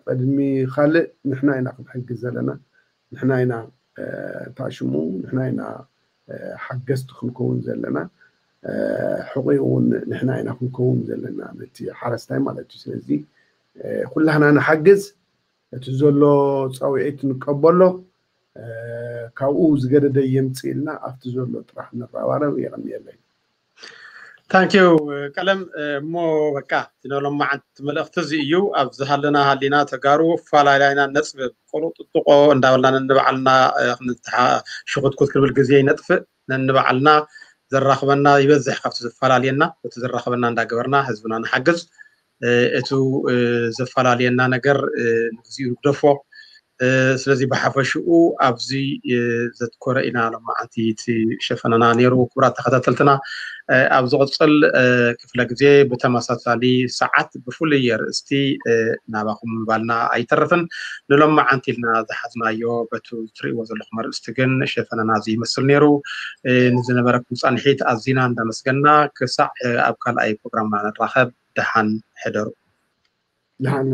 ቅድሚ ካልእ ንሕና ኢና ክንሕግዝ ዘለና፣ ንሕና ኢና ታሽሙ፣ ንሕና ኢና ሓገዝቲ ክንከውን ዘለና። ሕቑኡ እውን ንሕና ኢና ክንከውን ዘለና፣ ነቲ ሓረስታይ ማለት እዩ። ስለዚ ኩላህና ንሓግዝ፣ እቲ ዘሎ ፃውዒት ንቀበሎ፣ ካብኡ ዝገደደ የምፅእ ኢልና ኣብቲ ዘሎ ጥራሕ ንረባረብ። የቐንየለይ። ታንኪዩ ቀለም። እሞ በቃ እቲ ሎማዓንቲ መልእኽቲ እዚ እዩ። ኣብ ዝሃለና ሃሊና ተጋሩ ፋላላይና ነፅብብ፣ ቆሎ ጥጥቆ እንዳበልና ነንባዕልና ክንትሓ-፣ ሽኹትኩት ክንብል ግዜ ይነጥፍእ። ነንባዕልና ዘራኽበና ይበዝሕ ካብቲ ዘፈላልየና። እቲ ዘራኽበና እንዳገበርና ህዝብና ንሓግዝ። እቱ ዘፈላልየና ነገር ንግዚኡ ንግደፎ። ስለዚ ብሓፈሽኡ ኣብዚ ዘትኮረ ኢና ሎማዓንቲ እቲ ሸፈነና ነይሩ። ክቡራት ተኸታተልትና፣ ኣብ ዝቕፅል ክፍለ ግዜ ብተመሳሳሊ ሰዓት ብፍሉይ ኣርእስቲ ናባኹም ምባልና ኣይተርፍን። ንሎማዓንቲ ኢልና ዝሓዝናዮ በቱ እትርእይዎ ዘለኹም ኣርእስቲ ግን ሸፈነና እዚ ይመስል ነይሩ። ንዝነበረኩም ፃንሒት ኣዚና እንዳመስገና፣ ክሳዕ ኣብ ካልኣይ ፕሮግራምና ንራኸብ፣ ደሓን ሕደሩ። ደሓን